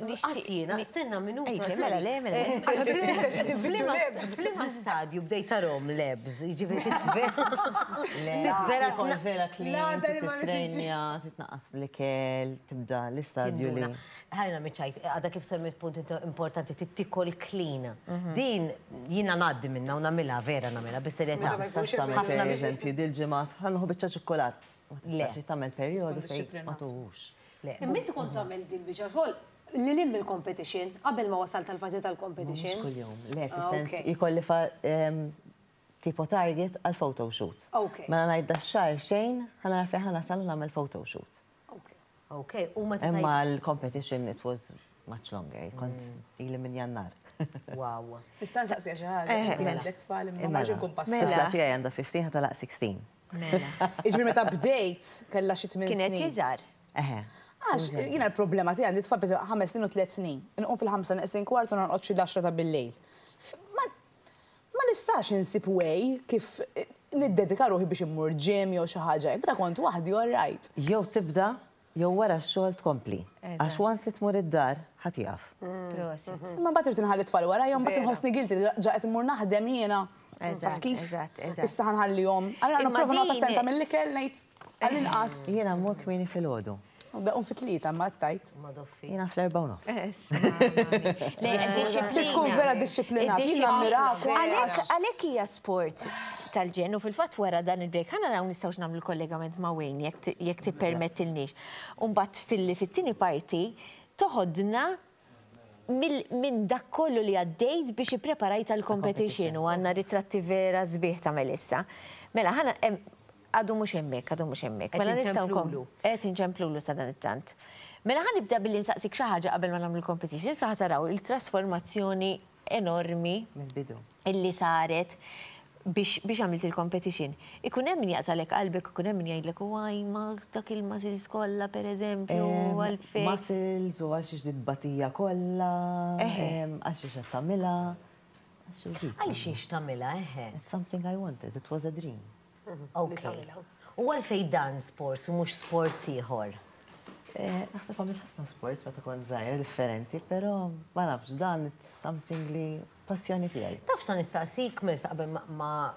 Nixtieq jiena, stenna minuta. Mela le, mela. F'liema stadju bdejt tarahom l-abs, jiġifieri titvera. Tkun vera clean, titrenja, titnaqqas l-ikel, tibda l-istadju li. Ħajna miċajt, għadha kif semmit punt importanti, tittikol clean. Din jiena ngħaddi minnha u nagħmilha vera nagħmilha bis-serjetà. Ma tistax tagħmel pereżempju dil-ġimgħa ħa nieħu biċċa ċikkulat. Ma tistax tagħmel perjodu fejn ma tuħux. Imma inti kont tagħmel din biċċa xogħol lil hinn mill-competition, qabel ma wasalt għall-fażi tal-competition. Mhux kuljum, le, fis-sens jkolli tipo target għal photoshoot. Mela ngħid dax-xahar xejn, ħa nara fejn ħa nasal u nagħmel photoshoot. Ok, u meta Imma l-competition it was much longer, kont ili minn Jannar. Wow. Nista' nsaqsiha xi ħaġa? Inti għandek tfal imma ma rridx inkun pastor. Tifla tiegħi għandha 15 ħa tagħlaq 16. Mela. Jiġifieri meta bdejt kellha xi tmien snin. Kienet iżgħar. Eħe. Għax jiena l-problema tiegħi għandi tfal pereżempju ħames snin u tliet snin. Inqum fil-ħamsa neqsin kwart u norqod xi l-għaxra ta' bil-lejl. Ma nistax insib way kif niddedika ruħi biex immur gym jew xi ħaġa hekk. Meta kont waħdi all right. Jew tibda jew wara x-xogħol tkompli. Għax once li tmur id-dar, ħa tieqaf. Prosit. Imma mbagħad irrid inħalli t-tfal warajja u mbagħad inħossni guilty li ġa qed immur naħdem jiena. Taf kif? Issa ħa nħallihom. Allura nipprova noqgħod attenta mill-ikel ngħid għall-inqas. Jiena mmur kmieni filgħodu. Nqum fit-tlieta imma tgħid. Jiena fl-erbgħa u nofs. Le, dixxiplina. Tkun vera dixxiplinat. Jien nammirakom. Għalhekk hija sport tal-ġenn u fil-fatt wara dan il-break ħa naraw nistgħux nagħmlu l-kollegament ma' Wayne jekk tippermettilniex. U mbagħad filli fit-tieni parti toħodna minn dak kollu li għaddejt biex ippreparajt għall-competition u għandna ritratti vera sbieħ ta' Melissa. Mela ħa Għadu mhux hemmhekk, għadu mhux hemmhekk. Mela nistgħu nkomplulu. Qed inċemplulu sadanittant. Mela ħa nibda billi nsaqsik xi ħaġa qabel ma nagħmlu l-competition. Issa ħa taraw il-trasformazzjoni enormi Mill-bidu. illi saret biex biex għamilt il-competition. Ikun hemm min jaqtagħlek qalbek, ikun hemm min jgħidlek u għaj ma dak il-muscles kollha pereżempju għalfejn. Muscles u għal xiex dit-tbatija kollha, għal xiex qed tagħmilha. Għal xiex tagħmilha, eħe. It's something I wanted, it was a dream. Ok. U għalfejn dan sports u mhux sports ieħor? Naħseb għamilt ħafna sports meta kont żgħira differenti, però ma nafx dan it's something li passjoni tiegħi. Taf x'sa nistaqsik Melissa qabel ma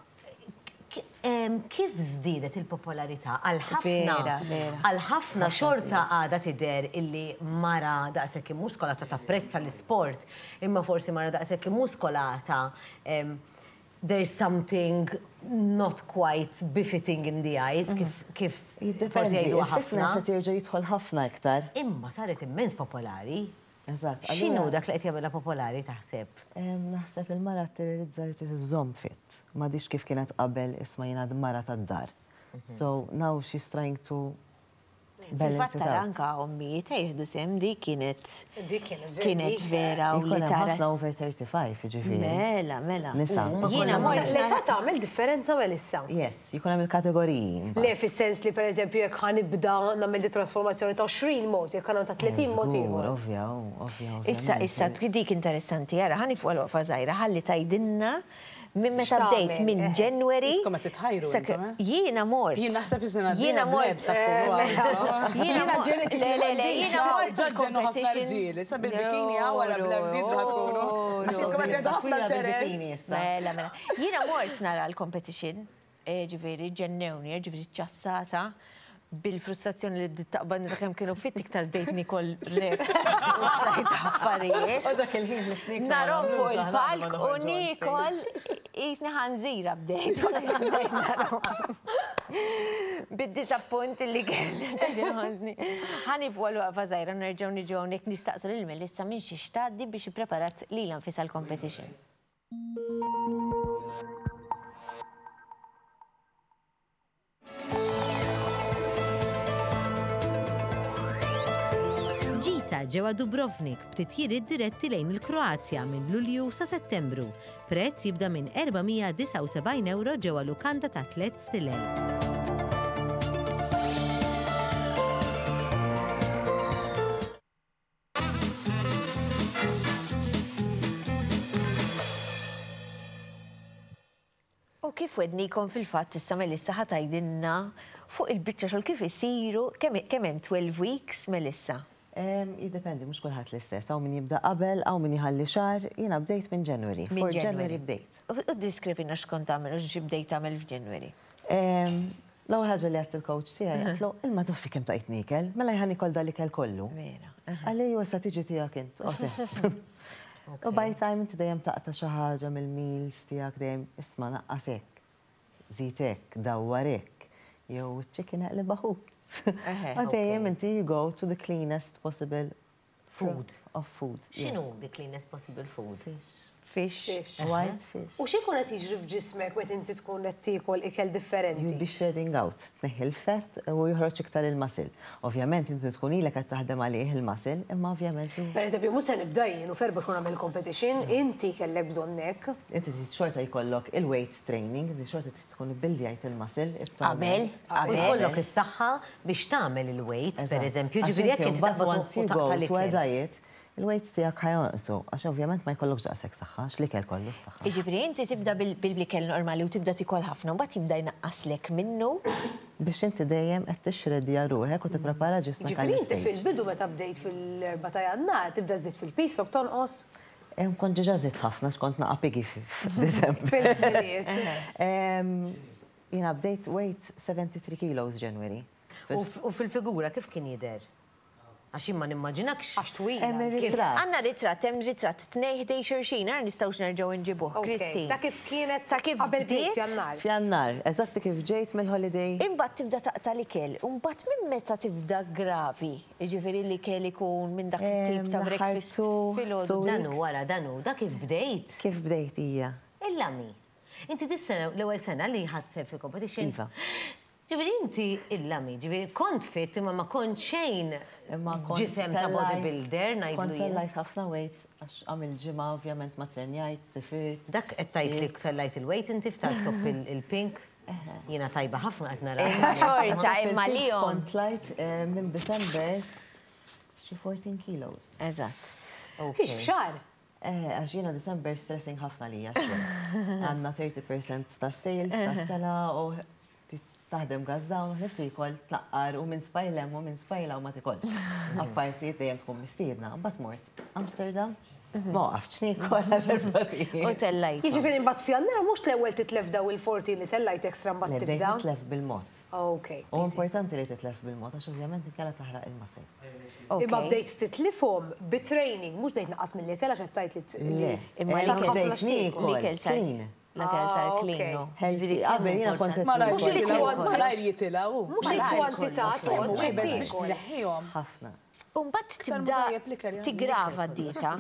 kif żdiedet il-popolarità għal ħafna għal ħafna xorta għadha tidher illi mara daqshekk immuskolata tapprezza l-isport, imma forsi mara daqshekk immuskolata there's something not quite befitting in the eyes, kif kif forsi jgħiduha ħafna. Il-fitness qed jerġa' jidħol ħafna iktar. Imma saret immens popolari. Eżatt. X'inhu dak li qed jagħmilha popolari taħseb? Naħseb il-mara tirrealizza li trid iżżomm fit. M'għadhiex kif kienet qabel isma' jien għad mara tad-dar. So now she's trying to Fil-fatt tara anka ommijiet jieħdu sehem dik kienet kienet vera u li tara. Ħafna over 35 jiġifieri. Mela, mela. Nisa. Jiena mort. L-età tagħmel differenza Melissa? Yes, jkun hemm il-kategoriji. Le fis-sens li pereżempju jekk ħa nibda nagħmel di trasformazzjoni ta' 20 mod, jekk ħa nagħmel ta' 30 mod ieħor. Ovvja, ovvja. Issa, issa, dik interessanti, ara ħa nifqu għal waqfa żgħira ħalli tgħidilna Minn meta bdejt, minn January. Iskom qed titħajru intom, eh? Jiena mort. Jien naħseb is-sena Jiena mort. Jiena ġenetik. Le, le, le, jiena mort. Ġaġġenu ħafna rġiel. Issa bil-bikini hawn wara bl-ebżiet raħ tkunu. Għax iskom qed tgħidu ħafna interess. Mela, mela. Jiena mort nara l-competition. Ġifieri ġennewni, ġifieri ċċassata bil-frustrazzjoni li bdiet taqbadni ta' kemm kienu fit iktar bdejt nikol reps u xtrajt affarijiet. U dak il-ħin li fnik. Narhom fuq il-palk u nikol qisni ħanżira bdejt. Bdejt narhom. Bid-disappunt li kelli ta' din ħossni. Ħa nieqfu għal waqfa żgħira u nerġgħu niġu hawnhekk nistaqsu lil Melissa minn xiex tgħaddi biex ippreparat lilha nfisha għall-competition. G-Type. In-Nisa ġewwa Dubrovnik b'titjiriet diretti lejn il-Kroazja minn Lulju sa Settembru. Prezz jibda minn 479 ewro ġewwa lukanda ta' tlett stilel. U kif wegħdnikom fil-fatt issa Melissa ħa tgħidilna fuq il-biċċa xogħol kif isiru, kemm kemm hemm 12 weeks Melissa? Jiddependi, mhux kulħadd l-istess. Hawn min jibda qabel, hawn min jħalli xahar, jiena bdejt minn January. Minn For January January bdejt. U ddeskrivilna x'kont tagħmel u xi bdejt tagħmel f'January. L-ewwel ħaġa li għedt il-coach tiegħi għedtlu, ilma toffi kemm tqajt niekel, mela ħa niekol dal-ikel kollu. Vera. Qalli ejwa issa tiġi tiegħek int. U by time inti dejjem taqta' xi ħaġa mill-meals tiegħek dejjem isma' naqqas hekk, żid hekk, dawwar hekk, jew iċ-chicken eqlibha ħut. U dejjem inti you go to the cleanest possible Food. Of food. X'inhu the cleanest possible food? Fish. Fish. White fish. U x'ikun qed jiġri f'ġismek meta inti tkun qed tiekol ikel differenti? You'll be shredding out, tneħħi l-fat u joħroġ iktar il-muscle. Ovvjament inti tkun ilek qed taħdem għalih il-muscle, imma ovvjament. Per eżempju, mhux se nibda jien u f'erba' xhur nagħmel competition, inti kellek bżonn hekk. Inti trid xorta jkollok il-weight training, inti xorta trid tkun ibbildjajt il-muscle. Qabel, U jkollok is-saħħa biex tagħmel il-weights, per eżempju, ġifieri jekk inti taqbad u taqta' l-ikel. Il-weights tiegħek ħa jonqsu, għax ovvjament ma jkollokx daqshekk saħħa, għax l-ikel kollu s-saħħa. Jiġifieri inti tibda bil-ikel normali u tibda tiekol ħafna, mbagħad jibda jnaqqaslek minnu. Biex inti dejjem qed tixxreddja ruħek u tipprepara ġismek għall-istage. Jiġifieri inti fil-bidu meta bdejt fil-erbgħa ta' Jannar tibda żżid fil-piż flok tonqos? Kont diġà żidt ħafna għax kont naqa' piggy f'Diżembru. Fil-Milied. Jiena bdejt weight 73 kilos January. U fil-figura kif kien jidher? Għax jien ma nimmaġinakx. Għax twila. Hemm ir-ritratt. Għandna ritratt, hemm ritratt tnejn ħdejn xulxin, ara nistgħux nerġgħu nġibuh, Christine. Ta' kif kienet Ta' kif qabel bdiet bdiet. f'Jannar. F'Jannar, eżatt kif ġejt mill-holiday. Imbagħad tibda taqta' l-ikel, u mbagħad minn meta tibda gravi? Jiġifieri l-ikel ikun minn dak it-tip ta' L-aħħar breakfast filgħodu. Dan hu wara, dan hu, da kif bdejt. Kif bdejt hija. Il-lami. Inti dis-sena l-ewwel sena li ħadt sehem fil-competition? Iva. Ġifieri inti illami, ġifieri kont fit imma ma kont xejn ġisem ta' bodybuilder ngħidlu Kont tellajt ħafna weight għax għamilt ġimgħa ovvjament ma trenjajt, sifirt. Dak qed tgħid li tellajt il-weight inti f'tal-top il-pink? Jiena tajba ħafna qed nara. Imma xorta imma lihom. Kont tlajt minn December xi 14 kilos. Eżatt. Fiex f'xahar? Eh, għax jiena December stressing ħafna lija x-xogħol. Għandna 30% tas-sales tas-sena u taħdem gas down, ħlift li jkoll tnaqqar u minn spajl hemm u minn spajl hawn ma tikolx. Apparti dejjem tkun mistiedna. Mbagħad mort Amsterdam, ma waqaftx niekol għal erba' ijiem. U tellajt. Jiġifieri mbagħad f'Jannar mhux l-ewwel titlef daw il-14 li tellajt extra mbagħad Le, bdejt tibda. nitlef bil-mod. Ok. U importanti li titlef bil-mod għax ovvjament inkella taħraq il-muscle. Imma bdejt titlifhom bi training, mhux bdejt naqqas mill-ikel għax qed tgħid li Le, Imma tak ħafna bdejt x'tiekol. niekol L-ikel sar clean. L-ikel sar Ah, clean. ok. no. Healthy, qabel jiena kont qed Malajr Mhux niekol il-kwantità. Malajr jitilgħu. Mhux il-kwantità tgħodd Biex x'qed tiekol. tneħħihom. ħafna. U mbagħad Iktar tibda ma tajjeb l-ikel, ja. tigrava d-dieta.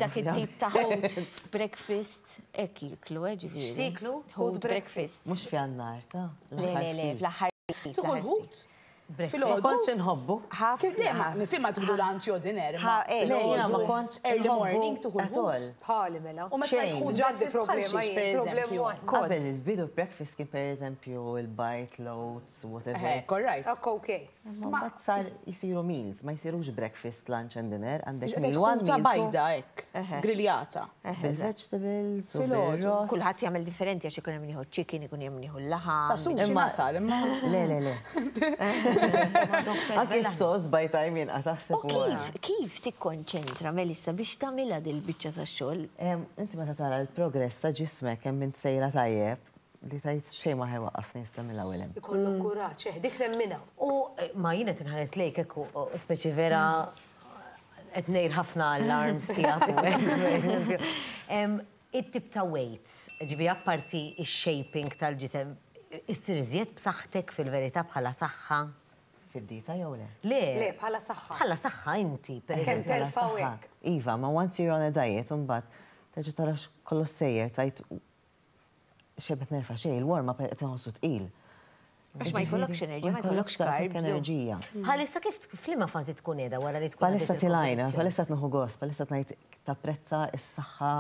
Dak it-tip ta' ħut breakfast hekk jiklu, eh, ġifieri. X'tieklu? Ħut breakfast. Mhux f'Jannar ta' Le, le, le, fl-aħħar ftit. Tuħu l-ħut? Ma Filgħodu? kontx inħobbu. Kif le, ma nifhem ma tuħdu lunch jew dinner. Ha, eh, Le, jiena ma kontx Early inħobbu morning tuħu at l-ħut. all. Bħali mela. U meta Xejn. tħu Ġaddi breakfast bħal problema xiex, jien, per problema eżempju. waħda. Qabel il-bidu breakfast kien per eżempju il-bite, l-oats, whatever. Eh, all right. Ok, ok. Imma mbagħad sar jisiru meals, ma jsirux breakfast, lunch and dinner, għandek Qed meal one, ħuta meal two. bajda hekk, griljata. Bil-vegetables, u Filgħodu. bil-ross. Kulħadd jagħmel differenti għax ikun hemm min jieħu chicken, ikun hemm min jieħu l-laħam. Sa sushi nasal imma. Le, le, le. Anke s-sos by time jinqata' U ħseb wara. kif kif tikkonċentra Melissa biex tagħmilha dil-biċċa tax-xogħol? Inti meta tara l-progress ta' ġismek kemm int sejra tajjeb, li tgħid xejn ma ħajwaqqafni issa mill-ewwel hemm. Ikollok kuraġġ, eh, dik nemminha. U ma jiena qed inħares lejk hekk u speċi vera qed ngħir ħafna alarms tiegħek u hekk. It-tip ta' weights, ġifieri apparti x-shaping tal-ġisem, issir iżjed b'saħħtek fil-verità bħala saħħa? Fid-dieta jew le? Le. Le, bħala saħħa. Bħala saħħa inti, per Kemm eżempju. terfa' u Saħħa. hekk. Iva, ma once you're on a diet, imbagħad terġa' tara kollox sejjer, tgħid xebet nerfa' xejn, il-warm up qed inħossu tqil. Għax ma jkollokx enerġija, ma jkollokx daqshekk carbs. enerġija. Bħalissa kif f'liema fażi tkun qiegħda wara li tkun Bħalissa għaddiet tilajna, il-kompetizzjoni? bħalissa tnieħu gost, bħalissa tgħid tapprezza s-saħħa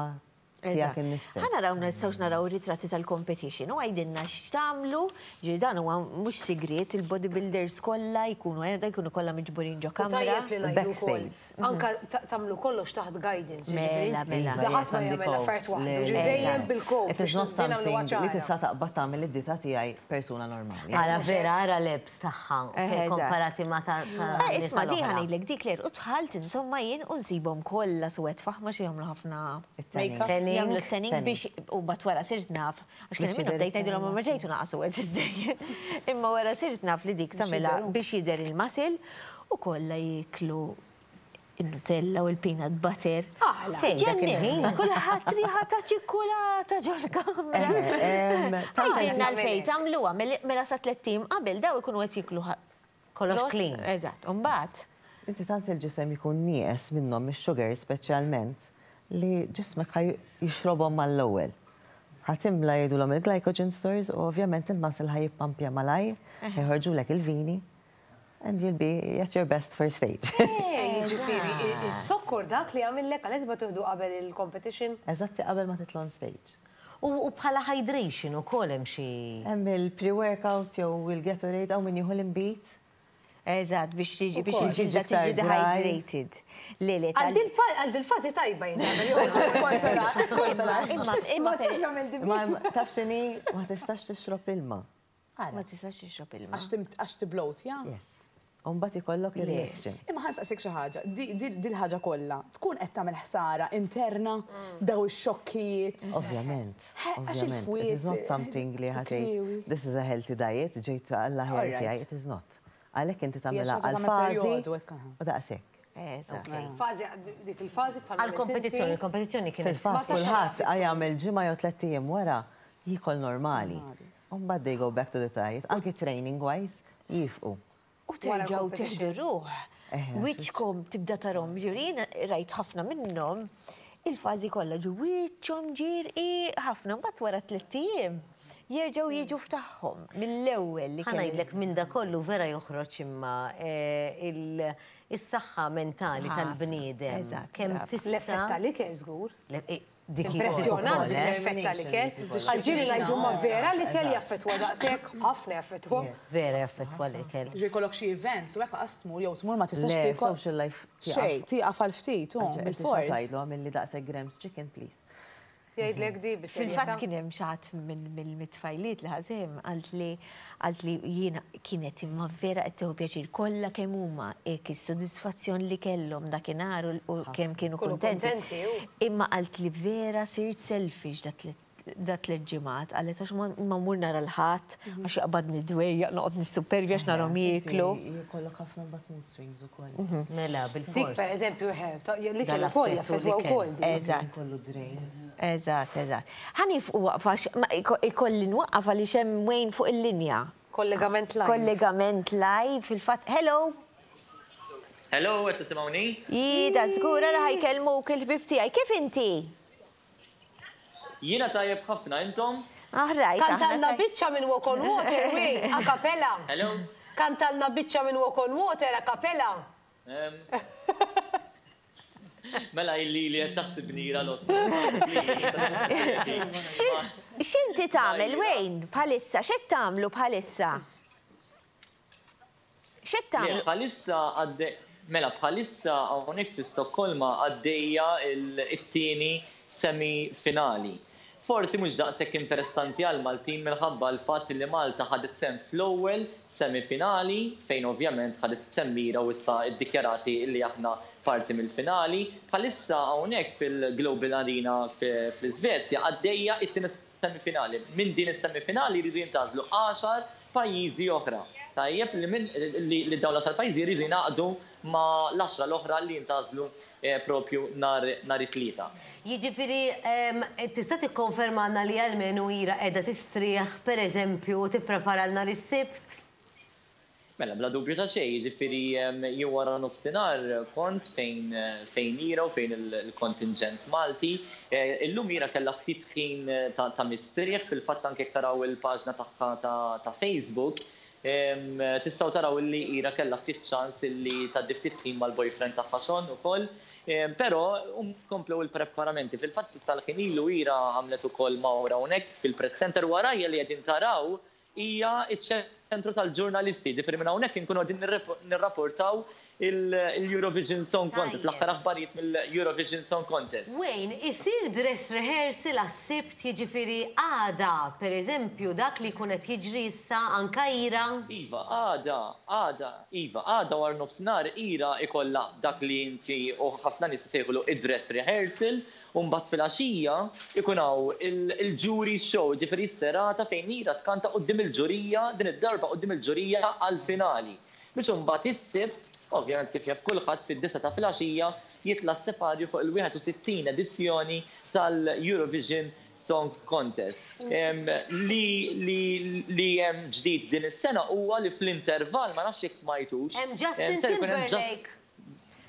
tiegħek innifsek. Ħa naraw nistgħux naraw ritratti tal-competition u għajdilna x'tagħmlu, ġi dan huwa mhux sigriet, il-bodybuilders kollha jkunu qiegħda jkunu kollha miġburin ġo U kamra. tajjeb li ngħidu wkoll. Backstage. Anka tagħmlu kollox taħt guidance, ġifieri Mela, inti mela. Da ħadd ma jagħmel affarijiet waħdu, ġifieri dejjem bil-coach. It is not something li tista' taqbad tagħmel id-dieta tiegħi persuna normali. Ara vera, ara l-abs tagħha Eżatt. komparati ma ta' Eh, Isma' nisa di l-oħra. ħa ngħidlek dik Claire, u dħalt insomma jien u nsibhom kollha suwed faħma xi jagħmlu ħafna It-tanning. Tanning. Jagħmlu t-tanning Tanning. biex u bat wara sirt naf, għax kien Biex minnhom jidher bdejt ngħidilhom ma ġejtu naqa' suwed iżżejjed. Imma wara sirt naf li dik tagħmilha biex jidher il-muscle u kollha jieklu il-Nutella u l-peanut butter. Aħla. Fejn dak Ġennin, il-ħin? kulħadd riħa ta' ċikkulata ġol-kamra. Għajdilna l-fej tagħmluha mela sa tlett ijiem qabel daw ikunu qed jieklu Kollox ross. clean. Eżatt, u mbagħad Inti tant il-ġisem jkun nieqes minnhom ix-sugar speċjalment li ġismek ħa jixrobhom mal-ewwel. Ħa timla jgħidulhom il-glycogen stores u ovvjament il-muscle ħa jippampja malajr, ħajħorġulek il-vini and you'll be at your best for stage. Jiġifieri, it-sokkor dak li għamillek għalhekk ma tuħdu qabel il-competition. Eżatti qabel ma titla' on stage. U bħala hydration ukoll hemm xi. Hemm il-pre-workout jew il-Gatorade hawn min jieħu l-inbid. Eżatt, biex tiġi biex Ukoll. il-ġilda Tiġi iktar tiġi dry. dehydrated. Le, le, Għal dil fażi tajba jien nagħmel Imma, imma, Ma taf x'inhi ma tistax tixrob ilma. ma tistax tixrob ilma. Għax tibloat, ja? Yes. U mbagħad ikollok il-reaction. Imma ħa nsaqsik xi ħaġa, dil-ħaġa kollha tkun qed tagħmel ħsara interna daw ix-xokkijiet. Ovvjament. Għax Ovvjament. It is not il-fwiet, something li ħa tgħid, il-kliewi. this is a healthy diet, ġejt għall-aħjar Alright. tiegħi, it is not. Għalhekk inti Hija tagħmilha xi ħaġa tagħmel għal-fażi perjodu hekk, aha. u daqshekk. Eżatt. Fażi, dik il-fażi bħal Għal-kompetizzjoni, il-kompetizzjoni kienet. Fil-fatt kulħadd jagħmel ġimgħa jew tlett ijiem wara jiekol normali. U mbagħad they go back to the diet, anki training wise jifqu. U terġgħu teħdu ruħ. Wiċċkom tibda tarahom ġirin, rajt ħafna minnhom, il-fażi kollha ġu wiċċhom ġirqi ħafna, mbagħad wara tlett ijiem jerġgħu jiġu f'tagħhom mill-ewwel li Ħa ngħidlek minn da kollu vera joħroġ imma is-saħħa mentali Ħafna. tal-bniedem. Eżatt, Kemm brava. tista' L-effett tal-ikel żgur. Dik Impressjonanti ukoll, eh? l-effett tal-ikel. Għal-ġiri ngħidu ma vera l-ikel jaffettwa daqshekk, ħafna jaffettwa. Vera jaffettwa l-ikel. Ġi jkollok xi events u hekk qas tmur jew tmur ma tistax Le, tiekol. social life Xejn, tieqaf għal ftit, u bil-fors. Tgħidlu għamilli daqshekk grams chicken, please. Jgħidlek di bis-serjetà. Fil-fatt kien hemm xi ħadd minn mit-tfajliet li ħasem qalt li jiena kienet imma vera qed tieħu pjaċir kollha kemm huma hekk is-sodisfazzjon li kellhom dakinhar u kemm kienu Kienu kuntenti. kuntenti, u. Imma qalt li vera sirt selfish da tliet ġimgħat, qalet għax ma mmur nara l-ħadd, għax jaqbadni dwejjaq noqgħod nissupervja għax narahom jieklu. Jkollok ħafna mbagħad mood swings ukoll. Mela, Dik bil-fors. per eżempju, l-ikel Dal-affett ukoll u jaffettwa l-ikel. wkoll dik. Eżatt. Kollu drained. Eżatt, eżatt. Ħa nieqfu waqfa, ikolli nwaqqaf għaliex hemm Wayne fuq il-linja. Kollegament live. Kollegament live, fil-fatt. Hello! Hello, qed tisimgħuni? Jida, żgur ara ħa jkellmuk il-ħbib tiegħi. Kif inti? Jiena tajjeb ħafna, intom? Aħrajt. Kantalna biċċa minn Walk on Water, wi, a cappella. Hello? Kantalna biċċa minn Walk on Water, a cappella. Mela illi li qed taħsib nira los. X'inti tagħmel Wayne bħalissa? X'qed tagħmlu bħalissa? X'qed tagħmlu? Bħalissa għadde mela bħalissa hawnhekk fi Stokkolma għaddejja it-tieni semi-finali. Forsi mhux daqshekk interessanti għal Maltin minħabba l-fatt li Malta ħadet sehem fl-ewwel semifinali fejn ovvjament ħadet sehem Mira u issa iddikjarati li aħna parti mill-finali. Bħalissa hawnhekk fil-Global Arena fl-Iżvezja għaddejja it-tieni semifinali. Minn din is-semifinali jridu jintgħażlu 10 pajjiżi oħra. Tajjeb li minn li dawn l-10 pajjiżi jridu jingħaqdu ma' l-10 l-oħra li jintgħażlu propju nhar it-tlieta. Jiġifieri tista' tikkonfermanna li almenu Ira qiegħda tistrieħ pereżempju u tipprepara l nhar is-Sibt? Mela, bla dubju ta' xejn, jiġifieri jien wara nofsinhar kont fejn fejn Ira u fejn il-kontingent Malti. Illum Ira kellha ftit ħin ta' mistrieħ, fil-fatt anke jekk taraw il-paġna tagħha ta' Facebook. Tistgħu taraw illi Ira kellha ftit ċans illi tgħaddi ftit ħin mal-boyfriend tagħha Sean ukoll. Però komplew il-preparamenti. Fil-fatt tal-ħin ilu Ira għamlet ukoll mawra hawnhekk fil-press center warajja li qegħdin taraw hija ċ-ċentru tal-ġurnalisti, jiġifieri minn hawnhekk inkunu qegħdin nirrapportaw il-Eurovision Song Contest, l-aħħar aħbarijiet mill-Eurovision Song Contest. Wayne, isir dress rehearsal għas-Sibt, jiġifieri għada, per eżempju, dak li jkun qed jiġri issa anka Ira? Iva, għada, għada, iva, għada wara nofsinhar Ira ikollha dak li inti u ħafna nies isejħulu id-dress rehearsal, U mbagħad filgħaxija jkun hawn il-jury show, jiġifieri s-serata fejn Ira tkanta quddiem il-ġurija, din id-darba quddiem il-ġurija għall-finali. Biex imbagħad is-Sibt, ovvjament kif jaf kulħadd, fid-disgħa ta' filgħaxija jitla' s-separju fuq il-61 edizzjoni tal-Eurovision Song Contest. Li li hemm ġdid din is-sena huwa li fl-intervall, ma nafx jekk smajtux, Hemm Justin Timberlake.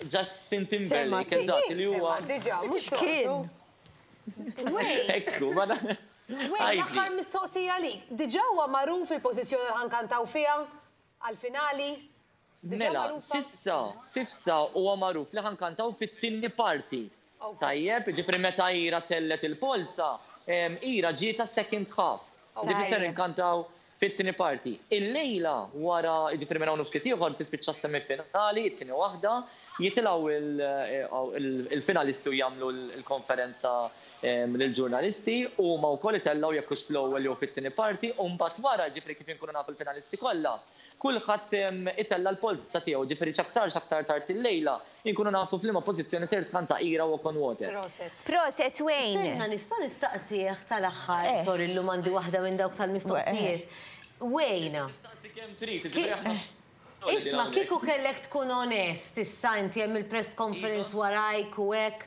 Justin Timberlake, eżatt, li huwa. Diġà, mhux kien. Ekku, ma L-aħħar mistoqsija għalik. Diġà huwa magħruf il-pożizzjoni li ħankantaw fiha għall-finali? Mela, sissa, sissa huwa magħruf li ħankantaw fit-tieni parti. Tajjeb, ġifieri meta Ira tellet il-polza, Ira ġietha second half. Ġifieri ser inkantaw fit-tieni parti. Illejla wara, jiġifieri minn hawn u ftit ieħor tispiċċa s-semifinali, it-tieni waħda, jitilgħu l-finalisti u jagħmlu l-konferenza lill-ġurnalisti, huma wkoll itellgħu jekk hux fl-ewwel jew fit-tieni parti, u mbagħad wara, jiġifieri kif inkunu nafu l-finalisti kollha, kulħadd itella' l-polza tiegħu, jiġifieri x'aktarx aktar tard illejla Inkunu nafu f'liema pożizzjoni ser tkanta Ira Walk on Water. Proset. Proset Wayne! Stenna nista' nistaqsih tal-aħħar, sorry llum għandi waħda minn dawk tal-mistoqsijiet. Wayne. Tistaqsi kemm trid, jiġifieri aħna solidi Isma' hawnhekk. kieku kellek tkun onest issa inti hemm il-press conference warajk u hekk,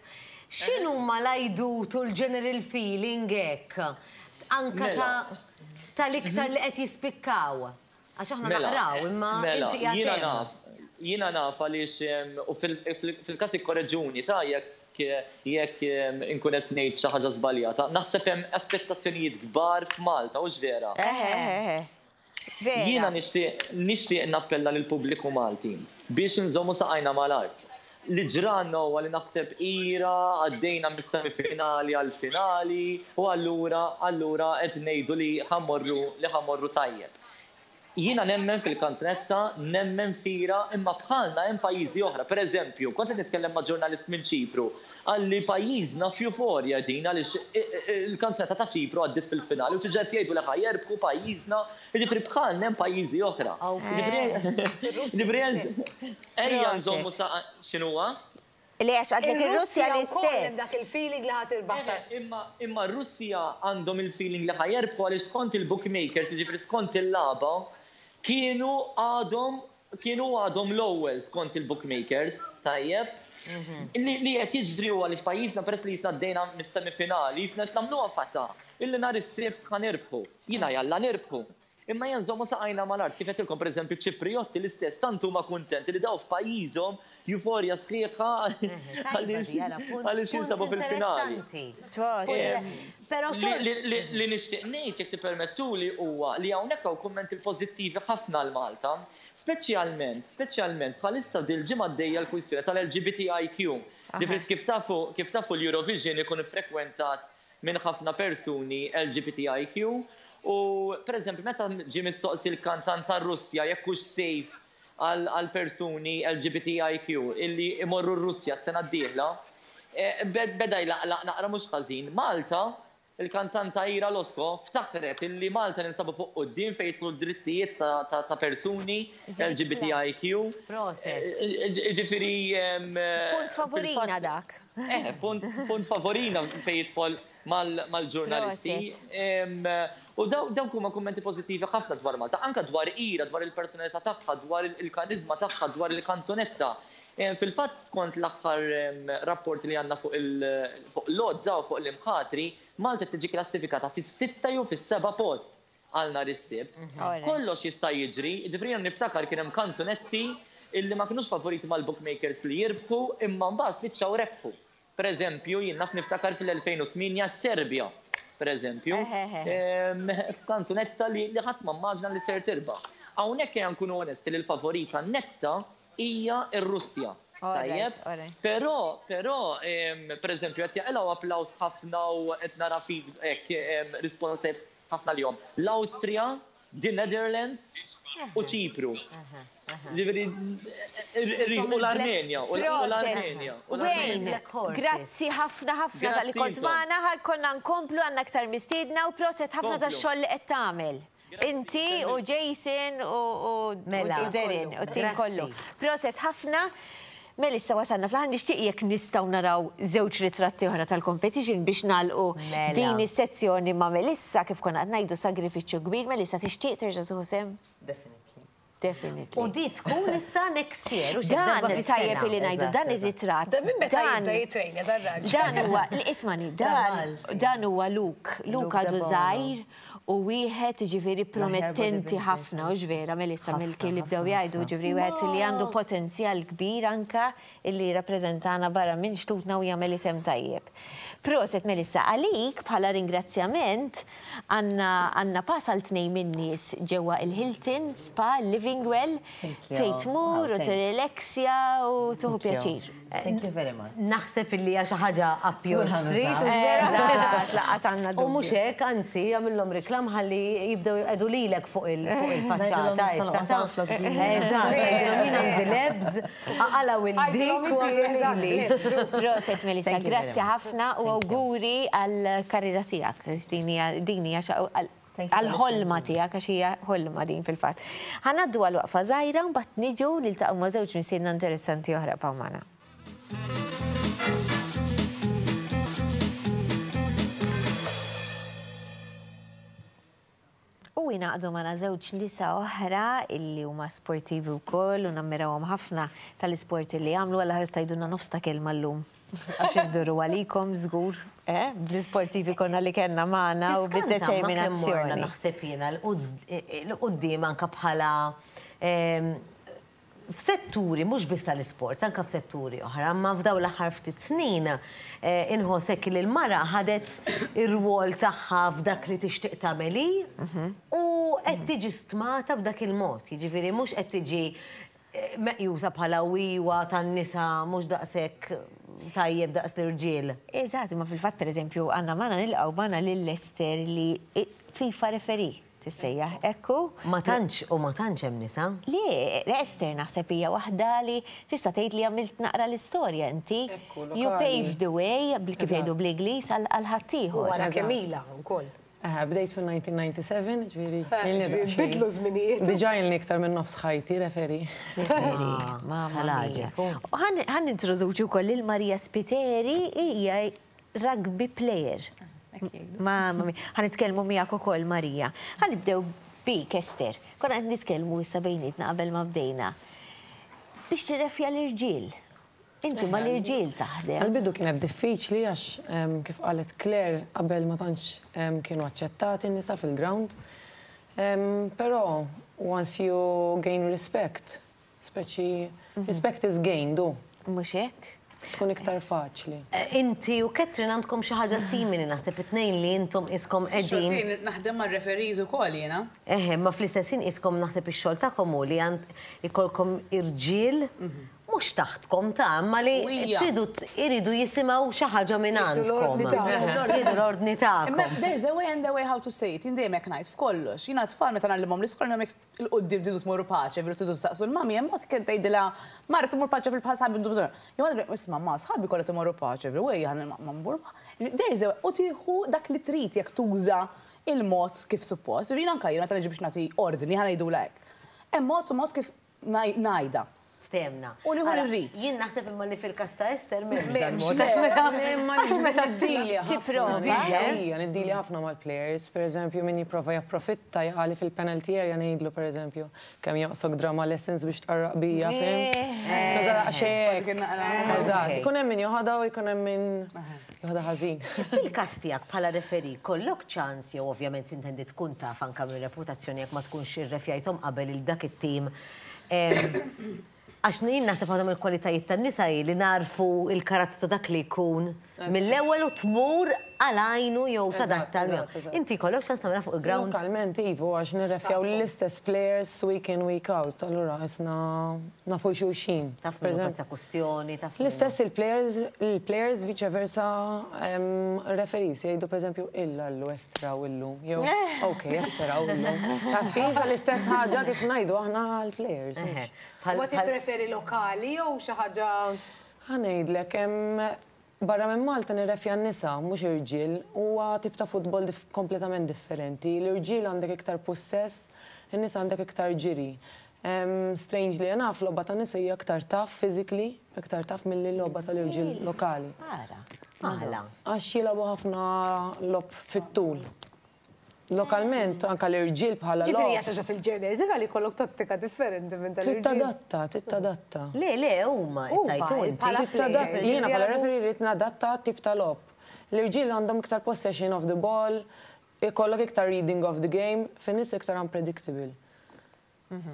x'inhuma l-għajdut u l-general feeling hekk anke ta' tal-iktar li qed jispikkaw? Għax aħna naqraw, imma inti qiegħed hemm. Jiena naf, jiena naf għaliex u fil-każ ikkoreġuni ta' jekk jekk inkun qed ngħid xi ħaġa żbaljata. Naħseb hemm aspettazzjonijiet kbar f'Malta, hux vera? Eħe, eħe. Vera. Jiena nixtieq nixtieq nappella lill-pubbliku Malti biex inżommu saqajna mal-art. Li ġralna huwa li naħseb ira għaddejna mis-semifinali għall-finali u allura allura qed ngħidu li ħa mmorru li ħa mmorru tajjeb. Jiena nemmen fil-kanzunetta, nemmen f'Ira, imma bħalna hemm pajjiżi oħra. Per eżempju, kont qed nitkellem ma' ġurnalist minn Ċipru, qalli pajjiżna f'euforja din għaliex il-kanzunetta ta' Ċipru għaddiet fil-finali u diġà qed jgħidu li ħa jerbħu pajjiżna, jiġifieri bħalna hemm pajjiżi oħra. Jiġifieri Ejja nżommu sa x'inhuwa? Le għax għadlek ir-Russja l-istess. Hemm dak il-feeling li ħa tirbaħ ta' Imma imma r-Russja għandhom il-feeling li ħa jerbħu għaliex skont il-bookmakers, jiġifieri skont il-lagħba, kienu għadhom kienu għadhom l-ewwel skont il-bookmakers, tajjeb? Li li qed jiġri huwa li f'pajjiżna peress li qisna għaddejna mis-semifinali, qisna qed nagħmluha fatta illi nhar is-Sibt ħa nirbħu. Jiena jalla nirbħu. Imma ejja nżommu saqajna mal-art, kif għedtilkom pereżempju ċ-Ċiprijotti l-istess tant huma kuntenti li daw f'pajjiżhom euforja sħiħa għaliex jinsabu fil-finali. Li nixtieq ngħid jekk tippermettuli huwa li hawnhekk hawn kummenti pożittivi ħafna għal Malta, speċjalment, speċjalment bħalissa dil-ġimgħa għaddejja l-kwistjoni tal-LGBTIQ. Ġifieri kif tafu, kif tafu l-Eurovision ikun iffrekwentat minn ħafna persuni LGBTIQ u pereżempju meta ġie mistoqsi l-kantant tar-Russja jekk hux safe għal persuni LGBTIQ illi imorru r-Russja s-sena d-dieħla, beda jlaqlaq naqra mhux ħażin. Malta, il-kantanta Ira Losco ftakret illi Malta ninsabu fuq quddiem fejn jidħlu d-drittijiet ta' persuni LGBTIQ. Proset. Jiġifieri Punt favorina dak. Eh, punt, punt favorina fejn jidħol mal-ġurnalisti. U dawk huma kummenti pożittivi ħafna dwar Malta, anke dwar Ira, dwar il-personalità tagħha, dwar il-kariżma tagħha, dwar il-kanzunetta. Fil-fatt skont l-aħħar rapporti li għandna fuq l-għodża u fuq l-imħatri, Malta tiġi klassifikata fis-sitta jew fis-seba' post għal nhar is-Sibt. Kollox jista' jiġri, jiġifieri jien niftakar kien hemm kanzunetti illi ma kinux favoriti mal-bookmakers li jirbħu imma mbagħad spiċċaw rebħu. Per eżempju, jien naf niftakar fil-2008 's-Serbja, per eżempju, kanzunetta li ħadd ma mmaġna li ser tirbaħ. Hawnhekk ejja nkunu onesti li l-favorita netta hija r-Russja. Tajjeb? Però, però, pereżempju qed jaqilgħu applawż ħafna u qed nara feedback, rispons tajjeb ħafna għalihom. L-Awstrija, the Netherlands u Ċipru. Ġifieri, u l-Armenja, u l-Armenja. Wayne, grazzi ħafna ħafna talli kont magħna, ħa jkollna nkomplu għandna aktar mistiedna u proset ħafna tax-xogħol li qed tagħmel. Inti u Jason u Darren u t-tim kollu. Proset ħafna. Mela issa wasalna fl-aħħar nixtieq jekk nistgħu naraw żewġ ritratti oħra tal-competition biex nagħlqu din is-sezzjoni ma' Melissa kif konna qed ngħidu sagrifiċċju kbir. Melissa tixtieq terġa' tieħu sehem? Definitely. Definitely. U di tkun issa next year, u xi Dan tajjeb li ngħidu dan ir-ritratt. Dan minn meta jibda jitrejnja dar-raġel. Dan huwa, ismani, dan dan huwa Luke. Luke għadu żgħir u wieħed jiġifieri promettenti ħafna, hux vera Melissa mill-kliem li bdew jgħidu, jiġifieri wieħed li għandu potenzjal kbir anke illi jirrappreżentana barra minn xtutna u jagħmel isem tajjeb. Proset Melissa, għalik bħala ringrazzjament għandna għandna pass għal tnejn min-nies ġewwa il-Hilton Spa Living Well fejn tmur u tirrileksja u tieħu pjaċir. Thank you very much. Naħseb illi hija xi ħaġa up your street, hux vera? Eżatt, lanqas għandna dubju. U mhux hekk, anzi, jagħmilhom reklam ħalli jibdew jqegħdu lilek fuq il-faċċata issa. Eżatt, tgħidilhom jien għandi l-ebs, aqalgħu il-dik u agħmlu lili. Proset Melissa, grazzi ħafna u awguri għall-karriera tiegħek, għax din hija din hija għall-ħolma tiegħek għax hija ħolma din fil-fatt. Ħa ngħaddu għal waqfa żgħira u mbagħad niġu niltaqgħu ma' żewġ mistiedna interessanti oħra bqgħu magħna. U ingħaqdu magħna żewġ nisa oħra illi huma sportivi wkoll u nammirawhom ħafna tal-isport illi jagħmlu għal ħares tgħidulna nofs ta' kelma llum. Għax induru għalikom żgur, eh, bl-isportivi konna li kellna magħna u bid-determinazzjoni. Naħseb jiena l-quddiem anke bħala f'setturi mhux biss tal-isports, anke f'setturi oħra, imma f'dawn l-aħħar ftit snin inħoss hekk li l-mara ħadet ir-rwol tagħha f'dak li tixtieq tagħmel hi u qed tiġi stmata b'dak il-mod. Jiġifieri mhux qed tiġi meqjusa bħala wiwa tan-nisa mhux daqshekk tajjeb daqs l-irġiel. Eżatt, imma fil-fatt pereżempju għandna magħna nilqgħu magħna lil Esther li FIFA referee tissejjaħ, hekk hu? Ma tantx u ma tantx hemm nisa. Le, Esther naħseb hija waħda li tista' tgħid li għamilt naqra l-istorja inti. You paved the way, kif jgħidu bl-Ingliż, għal ħaddieħor. U wara kemm ilha wkoll. Eħe, bdejt fil-1997, ġifieri ilni daqsxejn. Bidlu żminijiet. Diġà ilni iktar minn nofs ħajti referee. Referee, mamma mia. U ħa nintroduċi wkoll lil Maria Spiteri, hija rugby player. Mamma mia. Ħa nitkellmu miegħek ukoll Maria. Ħa nibdew bik Esther. Konna qed nitkellmu issa bejnietna qabel ma bdejna. Biex tirrefja l-irġiel. Inti mal-irġiel taħdem. Għall-bidu kienet diffiċli għax kif qalet Claire qabel ma tantx kienu aċċettati n-nisa fil-ground. Però once you gain respect, speċi respect is gained u. Mhux hekk? Tkun iktar faċli. Inti u Catherine għandkom xi ħaġa simili naħseb it-tnejn li intom qiskom qegħdin. Xorta jien naħdem mar-referees ukoll jiena. Eħe, imma fl-istess ħin qiskom naħseb ix-xogħol tagħkom hu li ikollkom irġiel mhux taħtkom ta' imma li tridu iridu jisimgħu xi ħaġa minn għandkom. Jieħdu l-ordni tagħkom. Imma there's a way and a way how to say it, jien dejjem hekk ngħid f'kollox. Jiena t-tfal meta ngħallimhom l-iskola ngħidilhom jekk 'il quddiem tridu tmorru paċe, veru tridu ssaqsu l-mummy, hemm mod kien tgħidilha mara tmur paċe fil-bħal sħabi Jew għadha isma' ma sħabi kollha timorru paċe, veru ejja ma mmur. There is a way, u tieħu dak li trid jekk tuża il-mod kif suppost. Jiġifieri anke jien meta niġi biex nagħti ordni, ħa ngħidulha hekk. Hemm mod u mod kif ngħidha. Ftehemna. U nieħu li rrid. Jien naħseb imma li fil-każ ta' Esther m'hemmx dan mod. Għax meta għax meta ddilja Tipprova. Ija, niddilja ħafna mal-players. Per eżempju, min jipprova japprofitta jaqali fil-penalty area ngħidlu per eżempju, kemm jonqsok drama lessons biex tqarraq bija, fhimt? Eżatt. Ikun hemm min joħodha u jkun hemm min joħodha ħażin. Fil-każ tiegħek bħala referee jkollok ċans jew ovvjament sintendi tkun taf anke mir-reputazzjoni jekk ma tkunx irrefjajthom qabel il dak it-tim Għax jien naħseb waħda mill-kwalitajiet tan-nisa hi li nagħrfu l-karattru ta' dak li jkun. Mill-ewwel u tmur għal għajnu jew tadatta. Inti jkollok ċans tagħmilha fuq il-ground? Lokalment iva, għax nirrefjaw l-istess players week in week out, allura qisna nafu xulxin. Taf min hu ta' kustjoni, taf. L-istess il-players, il-players vice versa referees jgħidu pereżempju illallu estraw illum jew ok estraw illum. Taf kif l-istess ħaġa kif ngħidu aħna għall-players. Ma tippreferi lokali jew xi ħaġa? Ħa ngħidlek, Barra minn Malta nirrefja n-nisa, mhux irġiel. Huwa tip ta' futbol kompletament differenti. L-irġiel għandek iktar pussess, in-nisa għandek iktar ġiri. Strangely enough, logħba tan-nisa hija iktar tough physically, iktar tough milli logħba tal-irġiel lokali. Ara, għala? Għax jilagħbu ħafna logħob fit-tul. Lokalment, anke l-irġiel bħala Ġifieri hija xi ħaġa fil-ġeneżi li jkollok tattika differenti minn tal-irġiel. Trid tadatta, trid tadatta. Le, le, huma qed tgħid inti. Trid tadatta, jiena bħala referee rrid nadatta għat-tip ta' logħob. L-irġiel għandhom iktar possession of the ball, ikollok iktar reading of the game, fin-nisa iktar unpredictable.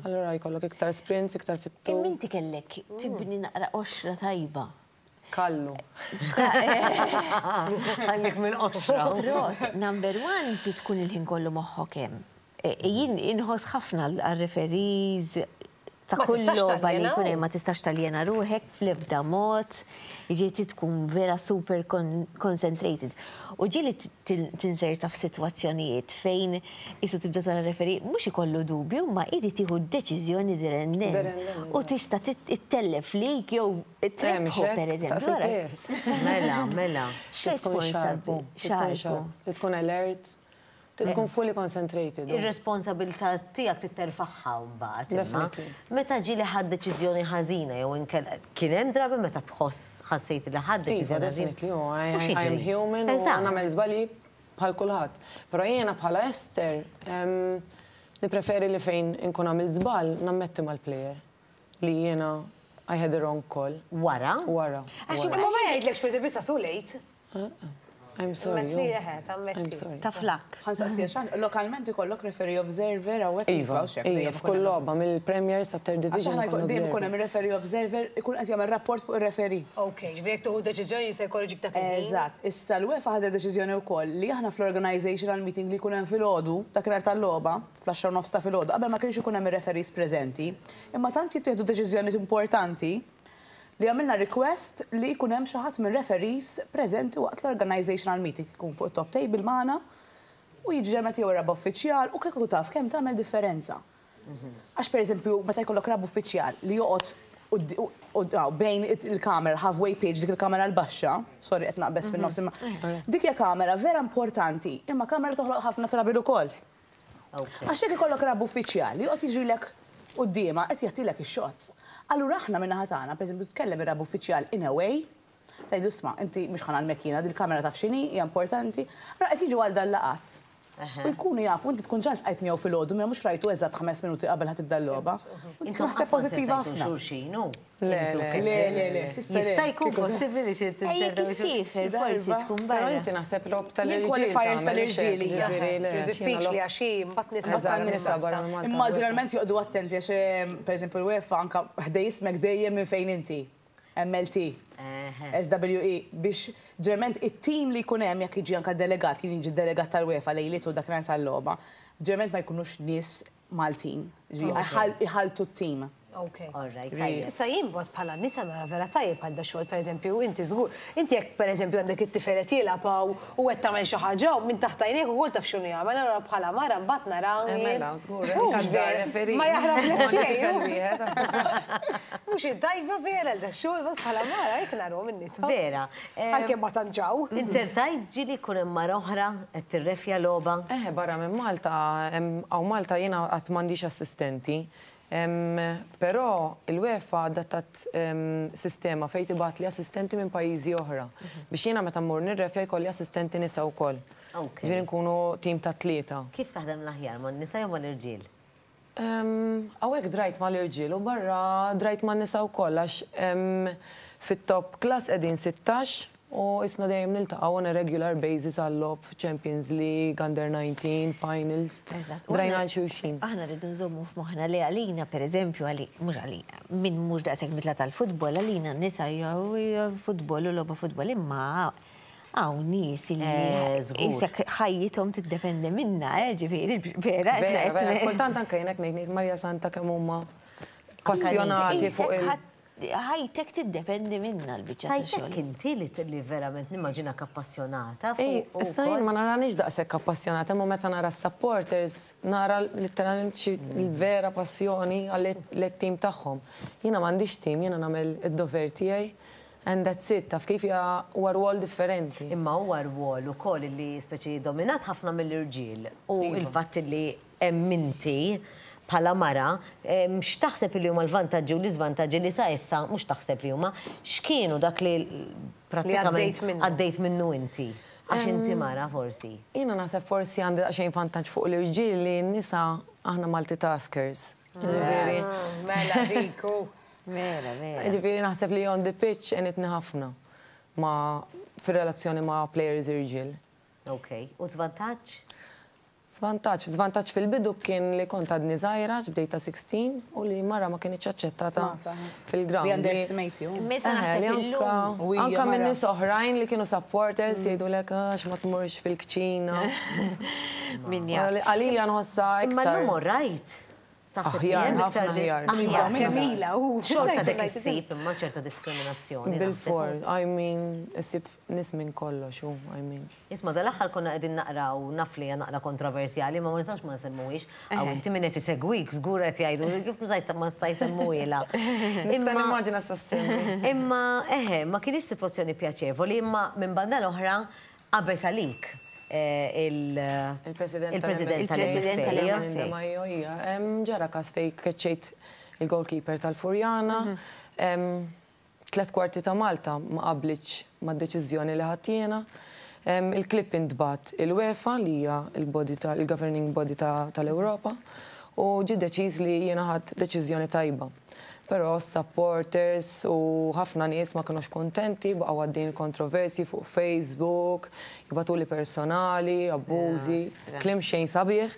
Allura jkollok iktar sprints, iktar fit-tul. Imma inti kellek tibni naqra qoxra tajba. Kallu. Għallik mill-qoxra. Ros, number one, trid tkun il-ħin kollu moħħok hemm. Jien inħoss ħafna għar-referees ta' kull logħba li jkun hemm ma tistax taljena ruħek fl-ebda mod, jiġifieri trid tkun vera super concentrated. U ġieli tinserta f'sitwazzjonijiet fejn qisu tibda tara referee mhux ikollu dubju imma jrid jieħu d-deċiżjoni there and then. U tista' ttellef lik jew trebbħu pereżempju. Mela, mela. X'responsabbi? Xarpu. Trid tkun alert. Trid tkun fully concentrated. Ir-responsabilità tiegħek trid terfagħha mbagħad. Definitely. Meta ġieli ħadt deċiżjoni ħażina jew inkella kien hemm drabi meta tħoss ħassejt li ħadt deċiżjoni ħażina? Definitely, I am human u nagħmel żbalji bħal kulħadd. Però jiena bħala Esther nippreferi li fejn inkun għamilt żball nammetti mal-player li jiena I had the wrong call. Wara? Wara. Għax imma ma jgħidlekx pereżempju sa too late. I'm sorry. Li eħe, tammetti. I'm sorry. Ta' flak. Ħa nsaqsi għax lokalment ikollok referee observer hawnhekk. Iva, iva, f'kull logħba mill-Premier sa Third Division. Għax aħna dejjem ikun hemm referee observer ikun qed jagħmel rapport fuq ir-referee. Ok, ġifieri jekk tieħu deċiżjoni jista' jkorreġik dak il-ħin. Eżatt. Issa l-UEFA ħadet deċiżjoni wkoll li aħna fl-organizational meeting li jkun hemm filgħodu, dakinhar tal-logħba, fl-10 nofs ta' filgħodu, qabel ma kienx ikun hemm ir-referees preżenti, imma tant jittieħdu deċiżjonijiet importanti li għamilna request li jkun hemm xi ħadd mir-referees preżenti waqt l-organizational meeting, ikun fuq it-top table magħna u jiġi ġemet jew raba' uffiċjal u kieku taf kemm tagħmel differenza. Għax pereżempju meta jkollok raba' uffiċjal li joqgħod bejn il-kamera, halfway pitch, dik il-kamera l-baxxa, sorry qed naqbeż fin-nofs imma dik hija kamera vera importanti, imma kamera toħloq ħafna trouble ukoll. Għax jekk ikollok raba' uffiċjal li joqgħod jiġrilek quddiemha qed jagħtilek ix-shots. Allura aħna min-naħa tagħna, pereżempju tkellem ir-raba' uffiċjal in a way, tgħidlu isma' inti mhux ħa ngħallmek jiena dil-kamera taf x'inhi, hija importanti. Allura qed jiġu għal dal-laqgħat. U jkunu jafu, inti tkun ġa ltqajt miegħu filgħodu, imma mhux rajtu eżatt ħames minuti qabel ħa tibda l-logħba. U dik naħseb pożittiva ħafna. Le, le, le, le. Jista' jkun possibbli li xi tinserta. Jekk issiefer forsi tkun barra. Però inti naħseb logħob tal-irġiel. Qualifiers tal-irġiel hija. Diffiċli għax hi mbagħad nisa. Nisa barra minn Malta. Imma ġeneralment joqogħdu attenti għax pereżempju l-UEFA anke ħdej ismek dejjem minn fejn inti. MLT, SWE, biex ġeneralment it-tim li jkun hemm jekk jiġi anke delegat, jien jiġi delegat tal-UEFA lejliet u dakinhar tal-logħba, ġeneralment ma jkunux nies Maltin, ġifieri iħalltu t-tim. Ok. All right, tajjeb. Issa jien b'mod bħala nisa nara vera tajjeb għal da xogħol, pereżempju, inti żgur, inti jekk pereżempju għandek it-tifel qed jilgħab hawn u qed tagħmel xi ħaġa hawn minn taħt għajnejk ukoll taf x'inhu jagħmel, allura bħala mara mbagħad nara. Eh mela, żgur, anke d-dar referee. Ma jaħrablek xejn. Tifel wieħed, aħseb. Mhux tajba vera għal da xogħol mbagħad bħala mara hekk narahom in-nisa. Vera. Għalkemm ma tantx hawn. Inzertajt ġieli jkun hemm mara oħra qed tirrefja logħba? Eħe barra minn Malta, hawn Malta jiena qatt m'għandix assistenti. Però il-UEFA adattat sistema fejn tibgħatli assistenti minn pajjiżi oħra biex jiena meta mmur nirrefja jkolli assistenti nisa wkoll. Ġifieri nkunu tim ta' tlieta. Kif taħdem l-aħjar, man-nisa jew mal-irġiel? Hawnhekk drajt mal-irġiel u barra drajt man-nisa wkoll għax fit-top class qegħdin 16. U isna dejjem niltaqgħu on a regular basis għal-logħob Champions League, Under 19, Finals. Eżatt. Drajna għal xulxin. Aħna rridu nżommu f'moħħna li għalina, per eżempju, għali, mhux għalina, min mhux daqshekk mitla tal-futbol, għalina nisa hija futbol u logħba futbol, imma hawn nies li isek ħajjithom tiddependi minna, ġifieri, vera. Vera, vera, kultant anke jien hekk ngħid ngħid Marja Santa kemm huma passjonati fuq il- Ħajtek tiddependi minna l-biċċa ta' xogħol. Ħajtek inti li li verament nimmaġinak appassjonata Ej, fuq issa jien ma naranix daqshekk appassjonata, imma meta nara s-supporters nara litteralment xi l-vera passjoni għall-tim tagħhom. Jiena m'għandix tim, jiena nagħmel id-dover tiegħi and that's it, taf kif hija huwa rwol differenti. Imma huwa rwol ukoll li speċi dominat ħafna mill-irġiel u l-fatt li hemm inti bħala mara, x'taħseb li huma l-vantaġġi u l-iżvantaġġi li sa issa, mhux taħseb li huma, x'kienu dak li prattikament għaddejt minnu inti? Għax inti mara forsi. Jiena naħseb forsi għandi daqsxejn vantaġġ fuq l-irġiel li n-nisa aħna multitaskers. Ġifieri. Mela dik hu. Mela, mela. Ġifieri naħseb li on the pitch għenitni ħafna ma' fir-relazzjoni ma' players irġiel. Ok. U żvantaġġ? Żvantaġġ, żvantaġġ fil-bidu kien li kont għadni żgħira, għax bdejt ta' 16, u li mara ma kinitx aċċettata fil-ground. They underestimate you. Imma issa naħseb illum. Anka minn nies oħrajn li kienu supporters jgħidulek għax ma tmurx fil-kċina. Min jaf. Għalija nħossha iktar. Imma llum all right. Aħjar, ħafna aħjar. Aħjar. Kemm u xorta dik issib imma ċerta diskriminazzjoni. Bil-for, I mean, issib nies minn kollox, u, I mean. Isma' dal-aħħar konna qegħdin naqraw, naf li hija naqra kontroversjali, imma ma nistgħux ma nsemmuhiex. Hawn inti min qed isegwik żgur qed jgħidu kif ma sta jsemmuhielha. Nista' nimmaġina sa ssemmi. Imma eħe, ma kinitx sitwazzjoni pjaċevoli, imma minn banda l-oħra qabeż għalik il-President tal-MFA. Majo, hija. Ġara każ fejn keċċejt il-goalkeeper tal-Furjana. 3/4 ta' Malta ma qablitx mad-deċiżjoni li ħadt jiena. Il-clip intbagħat il-UEFA li hija l-body il-governing body tal-Ewropa u ġie deċiż li jiena ħadt deċiżjoni tajba. Però s-supporters u ħafna nies ma kinux kuntenti, baqgħu għaddejjin kontroversji fuq Facebook, jibagħtuli personali, abbużi, kliem xejn sabiħ.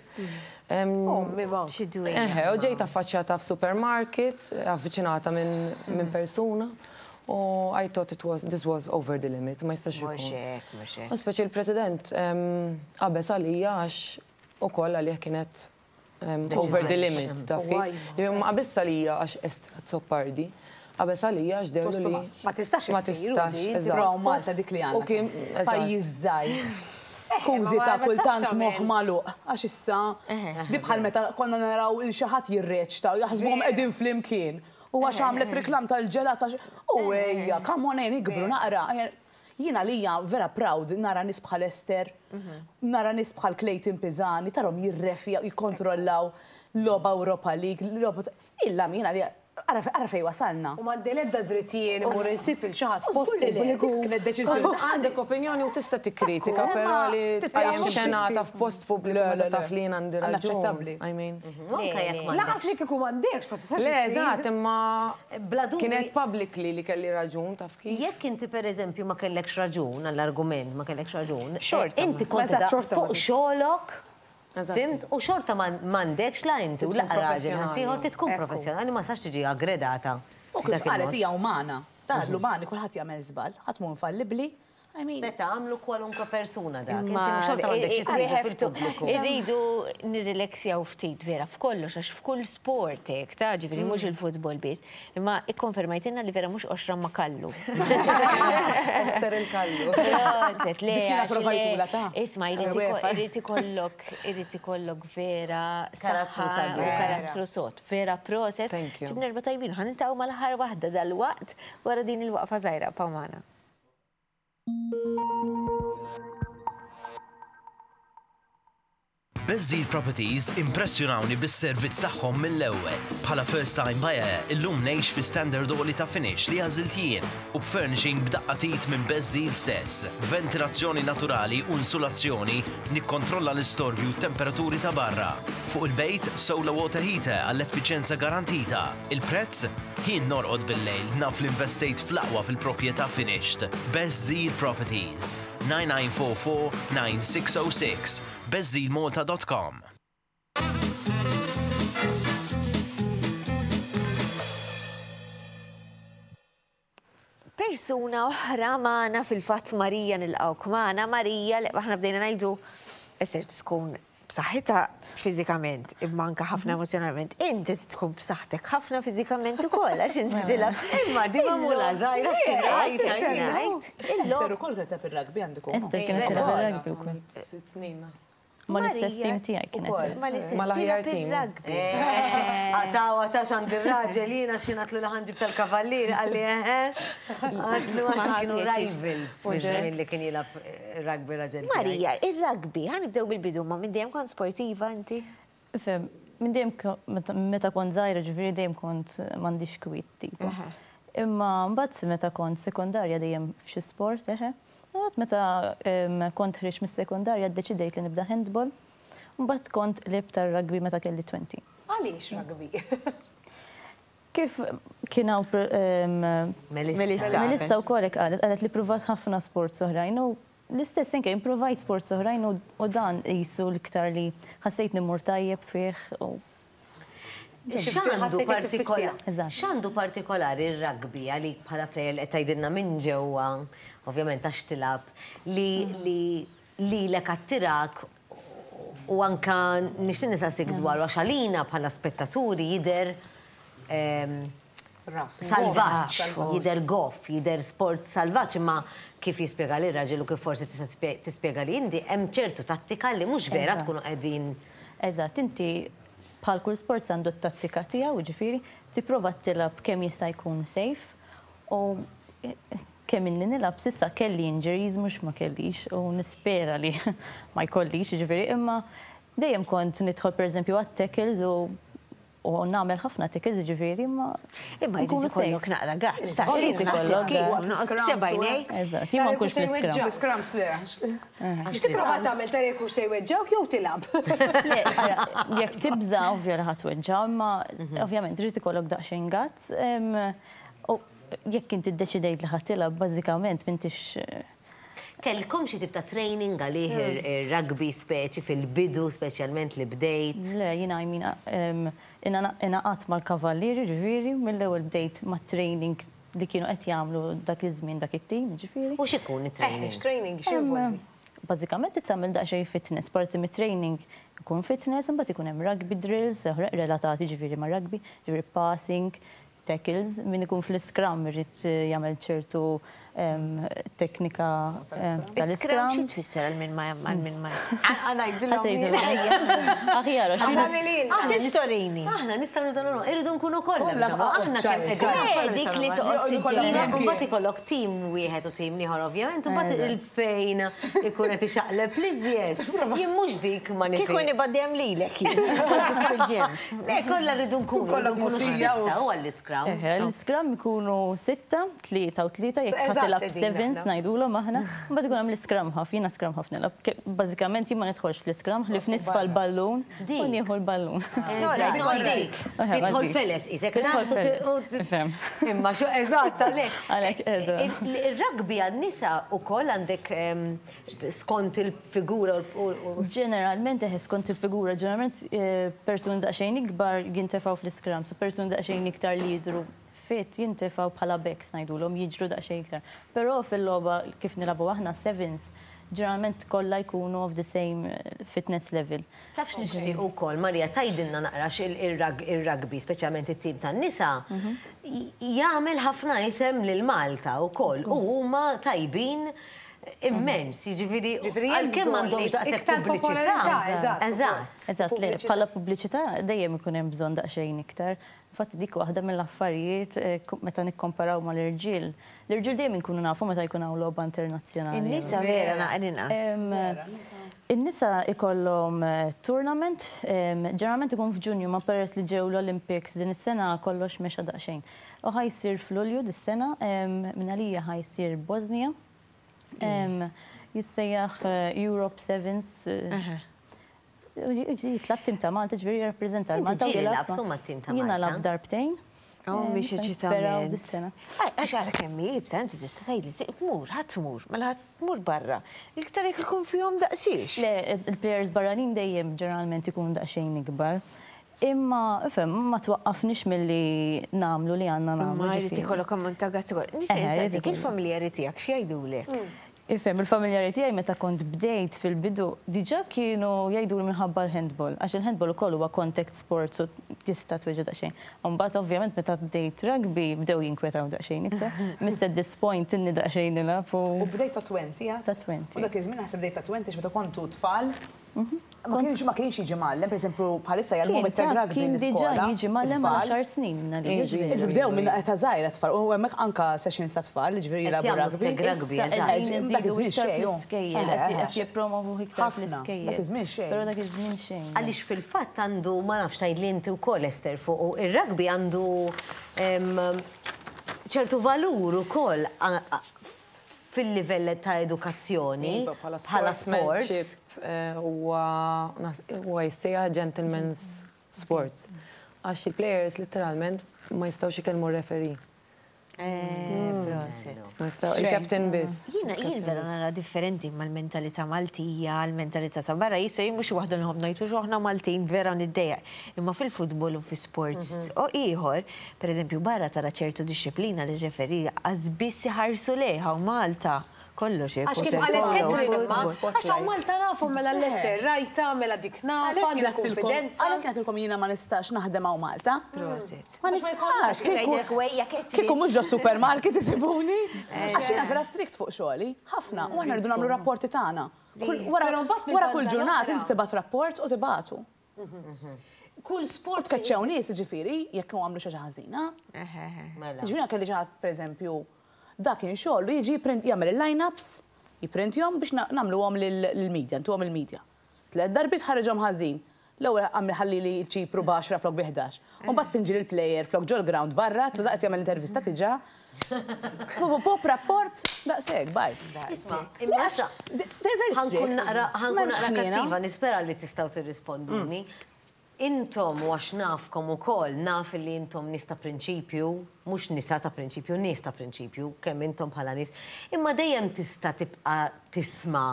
Eħe, u ġejt affaċċjata f'supermarket, avviċinata minn persuna, u I thought it was, this was over the limit, ma jistax ikun. Mhux hekk, mhux hekk. U speċi l-President qabeż għalija għax ukoll għalih kienet over the limit, taf kif? Ġifieri ma qabeż għalija għax Esther Azzopardi, qabeż għalija għax dehru li. Ma tistax Ma tistax, eżatt. Però Malta dik li għandna. Pajjiż żgħir. Skużi ta' kultant moħħ magħluq għax issa di bħal meta konna naraw il xi ħadd jirreċta u jaħsbuhom qegħdin flimkien. U għax għamlet reklam tal-ġelat għax u ejja, come on ejja nikbru naqra. Jien għalija vera proud nara nies bħal Esther, nara nies bħal Clayton Pisani, tarhom jirrefja, jikkontrollaw logħba Europa League, logħba illa jien għalija ara fejn wasalna. U m'għandi l-ebda dritt jien immur insib lil xi ħadd f'post Żgur li le, pubbliku. dik kienet deċiżjoni. Għandek opinjoni u tista' tikkritika, però li tqajjem xenata f'post pubbliku meta taf li jien għandi raġun. Unaċċettabbli. I mean. Anke jekk m'għandekx. Lanqas li kieku m'għandekx ma tistax Le, issib. eżatt, imma Bla dubju. kienet publicly li kelli raġun, taf kif? Jekk inti pereżempju ma kellekx raġun għall-argument, ma kellekx raġun, Xorta inti kont Eżatt, qiegħda xorta fuq ma- xogħlok, Eżatti. fimt? U xorta m'għandekx la inti u Tkun la raġel professjonali. ħaddieħor trid tkun Ekku. professjonali ma sax tiġi aggredata. U kif b'dak qalet il-mod. hija umana. Dan l-umani kulħadd jagħmel żball, ħadd mhu infallibbli. I mean, Seta' għamlu kwalunkwe persuna dak. Inti Imma xorta m'għandekx issibu fil-pubbliku. Irridu nirrileksjaw ftit vera f'kollox, għax f'kull sport hekk, ta' ġifieri mhux il-futbol biss. Imma ikkonfermajtilna li vera mhux qoxra ma kallu. Esther il-kallu. Proset, le, Dik jiena għax le. provajtula ta' Isma', Għal-UEFA. irid ikollok, irid ikollok vera Karattru saħħa sabiħ. u karattru sod. Vera proset. Thank you. Ġibna erba' tajbin, ħa niltaqgħu mal-aħħar waħda dal-waqt wara din il-waqfa żgħira ibqgħu magħna. Best Deal Properties impressjonawni bis-servizz tagħhom mill-ewwel. Bħala first time buyer, illum ngħix fi standard għoli ta' finish li għażilt jien u b'furnishing b'daqqa t'id minn Best Deal stess. B'ventilazzjoni naturali u insulazzjoni nikkontrolla l-istorbju u t-temperaturi ta' barra. Fuq il-bejt, solar water heater għall-effiċjenza garantita. Il-prezz? Jien norqod bil-lejl naf li investejt fl-aqwa fil-proprjetà finished. Best Deal Properties. 9944 9606 bestdealmalta.com. Persuna oħra magħna fil-fatt Marija nilqgħuk magħna. Marija li aħna bdejna ngħidu Esther tkun b'saħħitha fiżikament imma anke ħafna emozjonalment. Inti tkun b'saħħtek ħafna fiżikament ukoll għax inti tilgħab. Imma di magħmula żgħira x'kien Esther ukoll kienet tilgħab ir-rugby għandu jkun. Esther kienet tilgħab ir-rugby wkoll. Sitt snin naħseb. Mal-istess tim tiegħi kienet. Mal-aħjar tim. Għataw, għataw xand il-raġel, jiena xi għatlu li ħanġib tal-kavallier, għalli eħe. Għatlu għax kienu rivals. Fi li kien jilgħab rugby raġel. Marija, il-rugby, ħa nibdew bil-bidu, ma minn dejjem kont sportiva inti? Fem, minn dejjem meta kont żgħira ġifieri dejjem kont m'għandix kwiet tipo. Imma mbagħad meta kont sekondarja dejjem f'xi sport eħe. Mbagħad meta kont ħriġt mis-sekondarja ddeċidejt li nibda handball. Mbagħad kont qlibt tar-rugby meta kelli 20. Għaliex rugby? Kif kien hawn Melissa. Melissa wkoll hekk qalet, qalet li pruvat ħafna sports oħrajn u l-istess anke impruvajt sports oħrajn u dan qisu l-iktar li ħassejt immur tajjeb fih u X'għandu partikolari r-rugby għalik bħala player li qed tgħidilna minn ġewwa, ovvjament għax tilgħab, li li lilek attirak u anka nixtieq nistaqsik dwaru għax għalina bħala spettaturi jidher salvaġġ, jidher goff, jidher sport salvaġġ imma kif jispjega li raġel u kif forsi tista' tispjega li inti hemm ċertu tattika li mhux vera tkunu qegħdin. Eżatt, inti bħal kull sport għandu t-tattika tiegħu, jiġifieri tipprova tilgħab kemm jista' jkun safe u kemm inni nilgħab s'issa kelli injuries mhux ma kellix u nispera li ma jkollix, jiġifieri imma dejjem kont nidħol pereżempju għat-tackles u u nagħmel ħafna tackles jiġifieri imma Imma jrid nkunu ikollok safe. naqra guts, ta' Irid xi naħseb ikollok kieku guts. noqgħod b'sebgħinejk. Eżatt, jien ma nkunx fl-iscrum. L-iscrums le. X'tipprova tagħmel tara jekk hux se jweġġgħuk jew tilgħab? Le, jekk tibża' ovvja li ħa tweġġa', imma ovvjament irid ikollok daqsxejn guts. U jekk inti ddeċidejt li ħa tilgħab, bażikament m'intix Kellkom xi tip ta' training għalih ir-rugby speċi fil-bidu, speċjalment li bdejt? Le, jiena I mean, ingħaqadt mal-kavallieri, ġifieri, mill-ewwel bdejt mat-training li kienu qed jagħmlu dak iż-żmien dak it-tim, ġifieri. U x'ikun it-training? X'training x'involvi? Bażikament tagħmel daqsxejn fitness, parti mit-training ikun fitness, imbagħad ikun hemm rugby drills relatati ġifieri ma' rugby, ġifieri passing, tackles, min ikun fl-scrum irid jagħmel ċertu teknika Scrum tal-scrum. xi tfisser għal min ma għal min ma. Aħjar, Tistorini. Aħna nistgħu nidonu, irridu nkunu kollha. Aħna kemm qegħdin. Dik li toqgħod tiġġieled. Mbagħad ikollok tim wieħed u tim ieħor ovvjament, u mbagħad il-fejn ikun qed ixaqleb l-iżjed. Jien mhux dik ma nifhem. Kieku nibgħat lilek jien. Fil-gym. Le, kollha rridu nkunu. Kollha rridu nkunu xi motija u- sitta u għall-iscrum. L-scrum ikunu sitta, tlieta u tlieta, jekk ħa tilgħab sevens ngħidulhom aħna, mbagħad ikun hemm l-scrum half, jiena scrum half nilgħab. Bażikament jien ma nidħolx fl-scrum, ħlief nitfa' l-ballun u nieħu l-ballun. Nora, dik. Tidħol feles, isek. Tidħol feles. Ifhem. Imma xo, eżatt, għalhekk. Għalhekk, eżatt. Il-rugby għan-nisa wkoll għandek skont il-figura u Ġeneralment, eħe, skont il-figura, ġeneralment persuni daqsxejn ikbar jintefgħu fl-scrum, so persuni daqsxejn iktar li jidru fit jintefgħu bħala backs ngħidulhom jiġru daqsxejn iktar. Però fil-logħba kif nilagħbu aħna sevens, ġeneralment kollha jkunu of the same fitness level. Taf x'nixtieq ukoll, Marija, tgħidilna naqra il-rugby, speċjalment it-tim tan-nisa, jagħmel ħafna isem lil Malta wkoll u huma tajbin immens, jiġifieri għalkemm m'għandhomx daqshekk pubbliċità. Eżatt. Eżatt, le, bħala pubbliċità dejjem ikun hemm bżonn daqsxejn iktar. Infatti dik waħda mill-affarijiet meta nikkomparaw mal-irġiel. L-irġiel dejjem inkunu nafu meta jkun hawn logħba internazzjonali. In-nisa vera naqra inqas. In-nisa ikollhom tournament, ġeneralment ikun f'Ġunju ma peress li ġew l-Olympics din is-sena kollox mexa daqsxejn. U ħa jsir f'Lulju dis-sena, minn għalija ħa jsir Bosnia. Jissejjaħ Europe Sevens. Jitla' t-tim ta' Malta, ġifieri jirrappreżenta l Malta. Ġieli lgħabtu mat-tim ta' Malta? Jiena lgħabt darbtejn. Oh, mhix eċitament. Għax ara kemm hi iebsa, inti tista' tgħidli tmur, ħa tmur, mela ħa tmur barra. Iktar jekk ikun fihom daqsiex. Le, il-players barranin dejjem ġeneralment ikunu daqsxejn ikbar. Imma, ifhem, ma twaqqafniex milli nagħmlu li għandna nagħmlu. Imma jrid ikollok ammont ta' gazz ukoll. Nixtieq insaqsik, il-familjari tiegħek x'jgħidulek? Ifhem, il-familjari tiegħi meta kont bdejt fil-bidu diġà kienu jgħiduli minħabba l-handball, għax il-handball ukoll huwa contact sports u tista' tweġġa' daqsxejn. U mbagħad ovvjament meta bdejt rugby bdew jinkwetaw daqsxejn iktar. Miss at this point inni daqsxejn nilgħab u. U bdejt ta' 20, għad? Ta' 20. U dak iż-żmien naħseb bdejt ta' 20 għax meta kontu tfal Ma kienx ma kienx jiġi mgħallem, pereżempju bħalissa jgħallmuhom it-tag rugby Kien diġà l-iskola. jiġi mgħallem għal għaxar snin minn għalija, Jiġri ġifieri. bdew minn età żgħira t-tfal u hemmhekk anke sessions ta' tfal, jiġifieri Qed jilagħbu jagħmlu rugby. tag rugby, Issa eżatt. qegħdin Dak iżidu iż-żmien iktar xejn, hu. fl-iskejjel, Eħe, qed eħe. qed jippromovuh iktar Ħafna, fl-iskejjel. dak iż-żmien xejn. Però dak iż-żmien xejn. Għaliex fil-fatt għandu, ma nafx tgħidli inti wkoll Esther fuqu, ir-rugby għandu ċertu valur ukoll fil-livell ta' edukazzjoni Iva, bħala bħala sport. sportsmanship eh, huwa huwa jissejjaħ gentleman's sports. Għax il-players literalment ma jistgħux ikellmu r-referee. Eh, proset. Ma jistgħu il-captain biss. Jiena jien vera nara differenti mal-mentalità Maltija, l-mentalità ta' barra, jista' jien mhux waħda nħobb ngħid u aħna Maltin vera niddejjaq. Imma fil-futbol u fi sports u ieħor, pereżempju barra tara ċertu dixxiplina li r-referee qas biss iħarsu lejha u Malta kollox hekk. Għax kif qalet Catherine imma, għax hawn Malta nafu mela l-Lester rajta, mela dik nafa, Għalhekk għandi jien għedtilkom, konfidenza. għalhekk jien għedtilkom jiena ma nistax naħdem hawn Malta. Prosit. Ma nistax, kieku Ngħidlek wejja Catherine. kieku mhux ġo supermarket isibuni. Għax jiena vera strict fuq xogħli, ħafna, u aħna rridu nagħmlu rapporti tagħna. Kull wara Però mbagħad wara kull mill-banda ġurnata l-oħra- inti tibgħat rapport u tibgħatu. Kull sport. U tkeċċew nies, jiġifieri, jekk għamlu xi ħaġa ħażina. Mela. Jiġifieri jiena kelli xi ħadd, pereżempju, dak kien xogħlu jiġi jipprint jagħmel il-line-ups, jipprintjhom biex nagħmluhom lill-media, ntuhom il-media. Tlett darbiet ħariġhom ħażin. L-ewwel għamel ħallili ċ-Ċipru b'għaxra flok bi 11. U mbagħad pinġi lill-plejer flok ġol-ground barra, għedtlu dak qed jagħmel intervista diġà. Pop, rapport, daqshekk, bye. Isma', imma issa They're very ħankun strict. naqra ħankun M'hemmx naqra ħniena. kattiva, nispera li tistgħu tirrisponduni. Intom u għax nafkom ukoll, naf li intom nies ta' prinċipju, mhux nisa ta' prinċipju, nies ta' prinċipju, kemm intom bħala nies, imma dejjem tista' tibqa' tisma'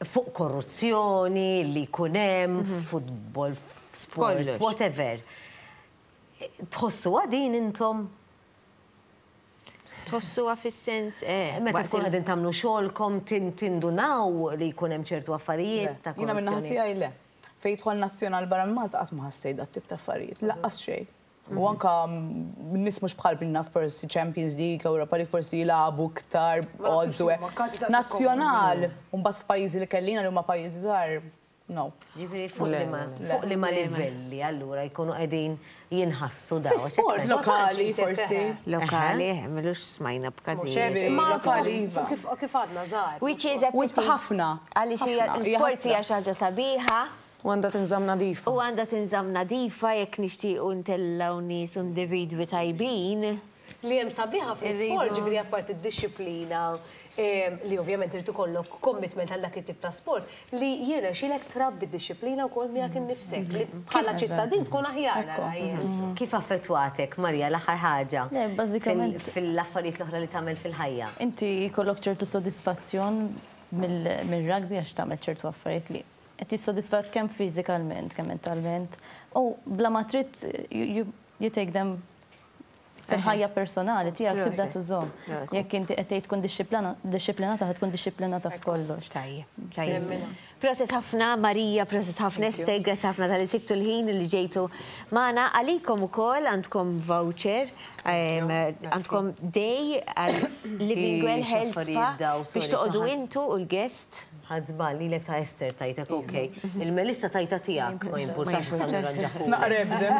fuq korruzzjoni li jkun hemm, f'futbol, f'sports, whatever. Tħossuha din intom? Tħossuha fis-sens eh. Meta tkun qegħdin tagħmlu xogħolkom tindunaw li jkun hemm ċertu affarijiet ta' Jiena min-naħa korruzzjoni. tiegħi le. Fejn jidħol nazzjonal barra minn Malta qatt ma ħassejt dat-tip ta' affarijiet, lanqas xejn. U anka nies mhux bħal minna forsi Champions League, Europa League forsi jilagħbu iktar odds u hekk. Nazzjonal, u mbagħad f'pajjiżi li kellina li huma pajjiżi żgħar, no. Ġifieri fuq liema fuq liema livelli allura jkunu qegħdin jinħassu dawn? Fi sport lokali forsi. Lokali, m'ilux smajna b'każijiet. Lokali iva. Kif għadna żgħar. Which is a pity. Ħafna. Għaliex hija l-sport hija xi ħaġa sabiħa. U għandha tinżamm nadifa. U għandha tinżamm nadifa jekk nixtiequ ntellgħu nies u individwi tajbin. Li hemm sabiħa fl-isport, ġifieri apparti d-dixxiplina li ovvjament irid ikollok commitment għal dak it-tip ta' sport, li jirnexxielek trabbi d-dixxiplina wkoll miegħek innifsek, li bħala ċittadin tkun aħjar nara jien. Kif affettwatek, Maria, l-aħħar ħaġa? Le, bażikament. Fil-affarijiet l-oħra li tagħmel fil-ħajja. Inti jkollok ċertu sodisfazzjon mill-rugby għax tagħmel ċertu affarijiet li qed jissodisfak kemm fiżikalment, kemm mentalment. U bla ma trid you take them fil-ħajja personali tiegħek tibda tużhom. Jekk inti qed tgħid tkun dixxiplinata ħa tkun dixxiplinata f'kollox. Tajjeb, tajjeb. Proset ħafna Marija, proset ħafna Esther, grazzi ħafna talli sibtu l-ħin li ġejtu magħna. Għalikom ukoll għandkom voucher, għandkom day għal Living Well Health Spa biex toqogħdu intu u l-guest. Ħadt żball, lilek ta' Esther tajtek, ok. Il-Melissa tajta tiegħek, ma jimpurtax issa nirranġaħ. Naqra ebżem.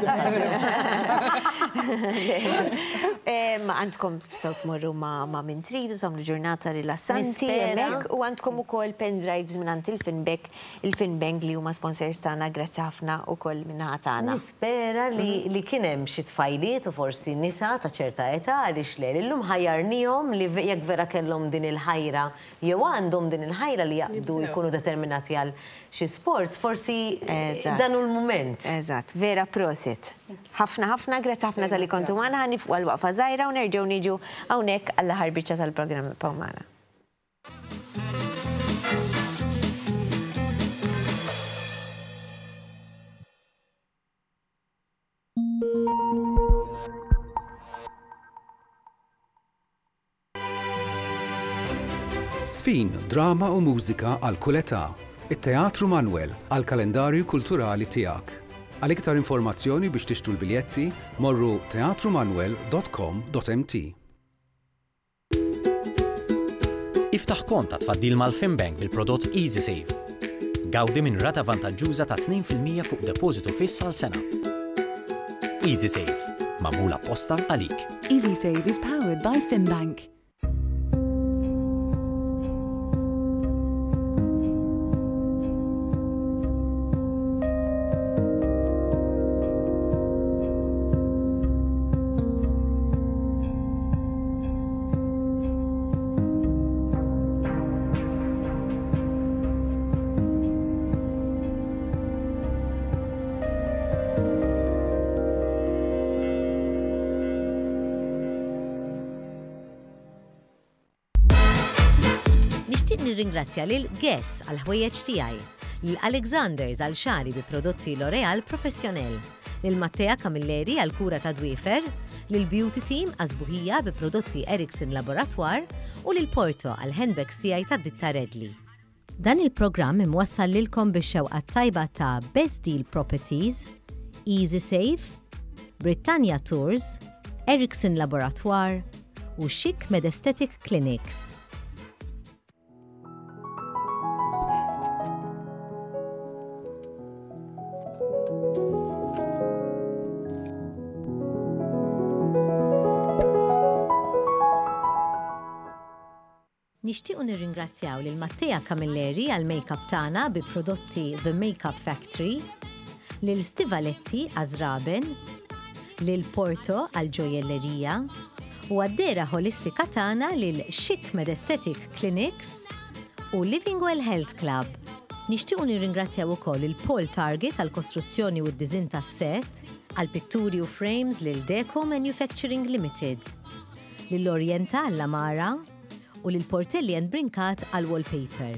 Għandkom tistgħu tmorru ma' min tridu, tagħmlu ġurnata rilassanti hemmhekk u għandkom ukoll pendrives mingħand il-Finbank, il-Finbank li huma sponsors tagħna, grazzi ħafna ukoll min-naħa tagħna. Nispera li kien hemm xi tfajliet u forsi nisa ta' ċerta età għaliex le, li llum ħajjarnihom li jekk vera kellhom din il-ħajra jew għandhom din il-ħajra li jaqbdu jkunu determinati għal xi sports, forsi dan hu l-mument. Eżatt, vera prosit. Ħafna ħafna, grazzi ħafna talli kontu magħna, ħa nifqu għal waqfa żgħira u nerġgħu niġu hawnhekk għall-aħħar biċċa tal-programm ibqgħu magħna. Żfin, drama u mużika għal kull età. It-Teatru Manoel għall-kalendarju kulturali tiegħek. Għal iktar informazzjoni biex tixtru l-biljetti, morru teatrumanoel.com.mt. Iftaħ kont ta' tfaddil mal-FinBank bil-prodott EasySave. Gawdi minn rata vantaġġuża ta' 2% fuq depożitu fiss għal sena. EasySave, magħmul apposta għalik. EasySave is powered by FinBank. Nixtieq nirringrazzja lil Guess għall-ħwejjeġ tiegħi, lil Alexanders għal xagħri bi prodotti L'Oréal Professionnel, lil Mattea Camilleri għall-kura ta' dwiefer, lil Beauty Team għas-sbuħija bi prodotti Erickson Laboratoire u lil Porto għall-handbags tiegħi tad-ditta Redley. Dan il-programm imwassal lilkom bix-xewqa t-tajba ta' Best Deal Properties, Easy Save, Britannia Tours, Erickson Laboratoire u Chic Medesthetic Clinics. Nixtiequ nirringrazzjaw lil Mattea Camilleri għall-makeup tagħna bi prodotti The Makeup Factory, lil Stivaletti għaż-żraben, lil Porto għall-ġojjellerija, u għad-dehra ħolistika tagħna lil Chic Medesthetic Clinics u Living Well Health Club. Nixtiequ nirringrazzjaw ukoll lil Paul Target għall-kostruzzjoni u d-diżinn tas-set, għall-pitturi u frames lil Deco Manufacturing Limited, lil Orienta għall-għamara, u lil Portelli and Brincat għall-wallpaper,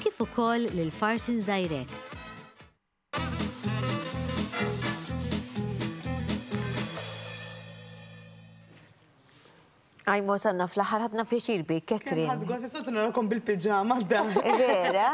kif ukoll lil Farsons Direct. Ajma wasalna fl-aħħar ħadna pjaċir bik, Catherine. Ħadd gost is-soltu narakom bil-piġama da. Vera?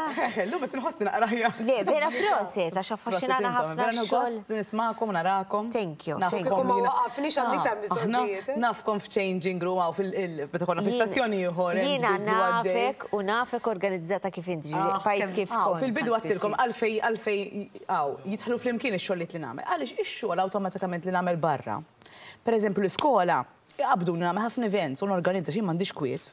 Illum qed inħossni naqra aħjar. Le, vera proset għax affaxxinana ħafna x-xogħol. Gost nismagħkom narakom. Thank you. Kieku ma waqafniex għandi iktar mistoqsijiet. Eh? Nafkom f'changing room hawn fil meta konna fi stazzjoni ieħor. Jiena nafek u nafek organizzata kif inti, ġifieri ah, bajt kif kont. Fil-bidu għattilkom għalfej għalfej hawn jidħlu flimkien ix-xogħlijiet li nagħmel. Għaliex ix-xogħol awtomatikament li nagħmel barra. Pereżempju l-iskola, Iqabbduni nagħmel ħafna events u norganizza x'jien m'għandix kwiet.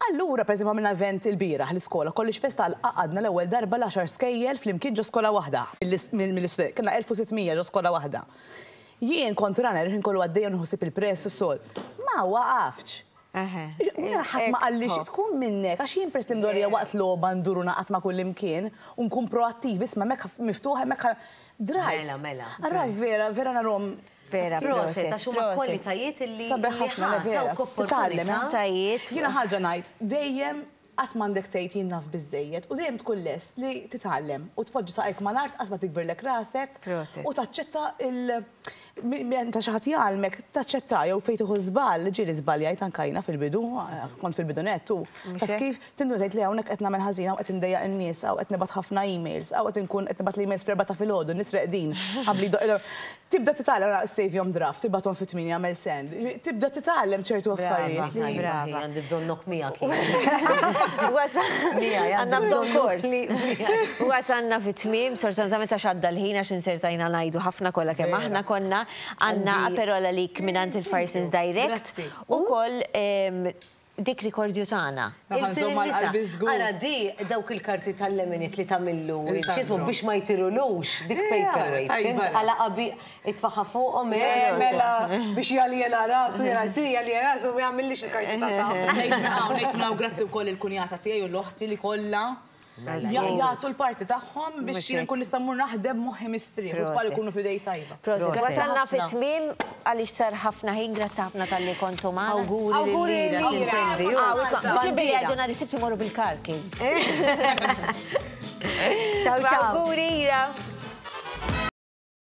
Allura, pereżempju għamilna event ilbieraħ l-iskola, College Fest għal għaqadna l-ewwel darba l-għaxar skejjel flimkien ġo skola waħda. Mill-istudenti, kellna 1600 ġo skola waħda. Jien kont runner, il-ħin kollu għaddejja u nieħu ħsieb il-press u s-sol. Ma waqaftx. Jiena ħadd ma qalli xi tkun minnek, għax jien peress li mdorrija waqt logħba ndur u naqgħad ma' kullimkien u nkun proattiv, isma' hemmhekk miftuħ hemmhekk drajt. Mela, mela. Allura vera, vera narhom Vera, proset, għax huma kwalitajiet illi Sabiħ ħafna, le vera. Titgħallem, eh? Kwalitajiet. Jiena ħaġa ngħid, dejjem Qatt m'għandek tgħid jien naf biżżejjed u dejjem tkun lest li titgħallem u tpoġġi saqajk mal-art qatt ma tikbirlek rasek u taċċetta il meta xi ħadd jgħallmek taċċetta jew fejn tieħu żball, ġieli żbaljajt anke jiena fil-bidu, kont fil-bidu nett u taf kif tinduna tgħid le hawnhekk qed nagħmel ħażin hawn qed indejjaq in-nies, hawn qed nibgħat ħafna emails, hawn qed inkun qed nibgħat l-emails fl-erbgħa ta' filgħodu, n-nies reqdin qabli jdoqq Tibda titgħallem, ara save-jhom draft, tibgħathom fit-tmienja għamel send. Tibda titgħallem ċertu affarijiet li. Brava, għandi bżonnok miegħek. Għandna bżonn kors. Wasalna fit-tmiem, sfortunatament għax għadda l-ħin għax insertajna ngħidu ħafna kollha kemm aħna konna. Għandna Aperol għalik mingħand il-Farsons Direct. Ukoll Dik rikordju tagħna. Ara di dawk il-karti tal-leminit li tagħmillu x'ismu biex ma jtirulux dik paperweight. Għala qabi itfaħħa fuqhom. Mela biex jaljena rasu, jaljena rasu ma jagħmillix il-karti ta' ta' Ngħid minn hawn grazzi wkoll il-kunjata tiegħi u l-oħti li kollha Jagħtu l-parti tagħhom biex jien nkun nista' mmur naħdem moħħi mistrieħ u t-tfal ikunu f'idej tajba. Prosit. Wasalna fit-tmiem għaliex sar ħafna ħin, grazzi ħafna talli kontu magħna. Awguri lil Ira. Mhux billi jgħidu nhar is-Sibt imorru bil-car kids. Ciao ciao. Awguri Ira.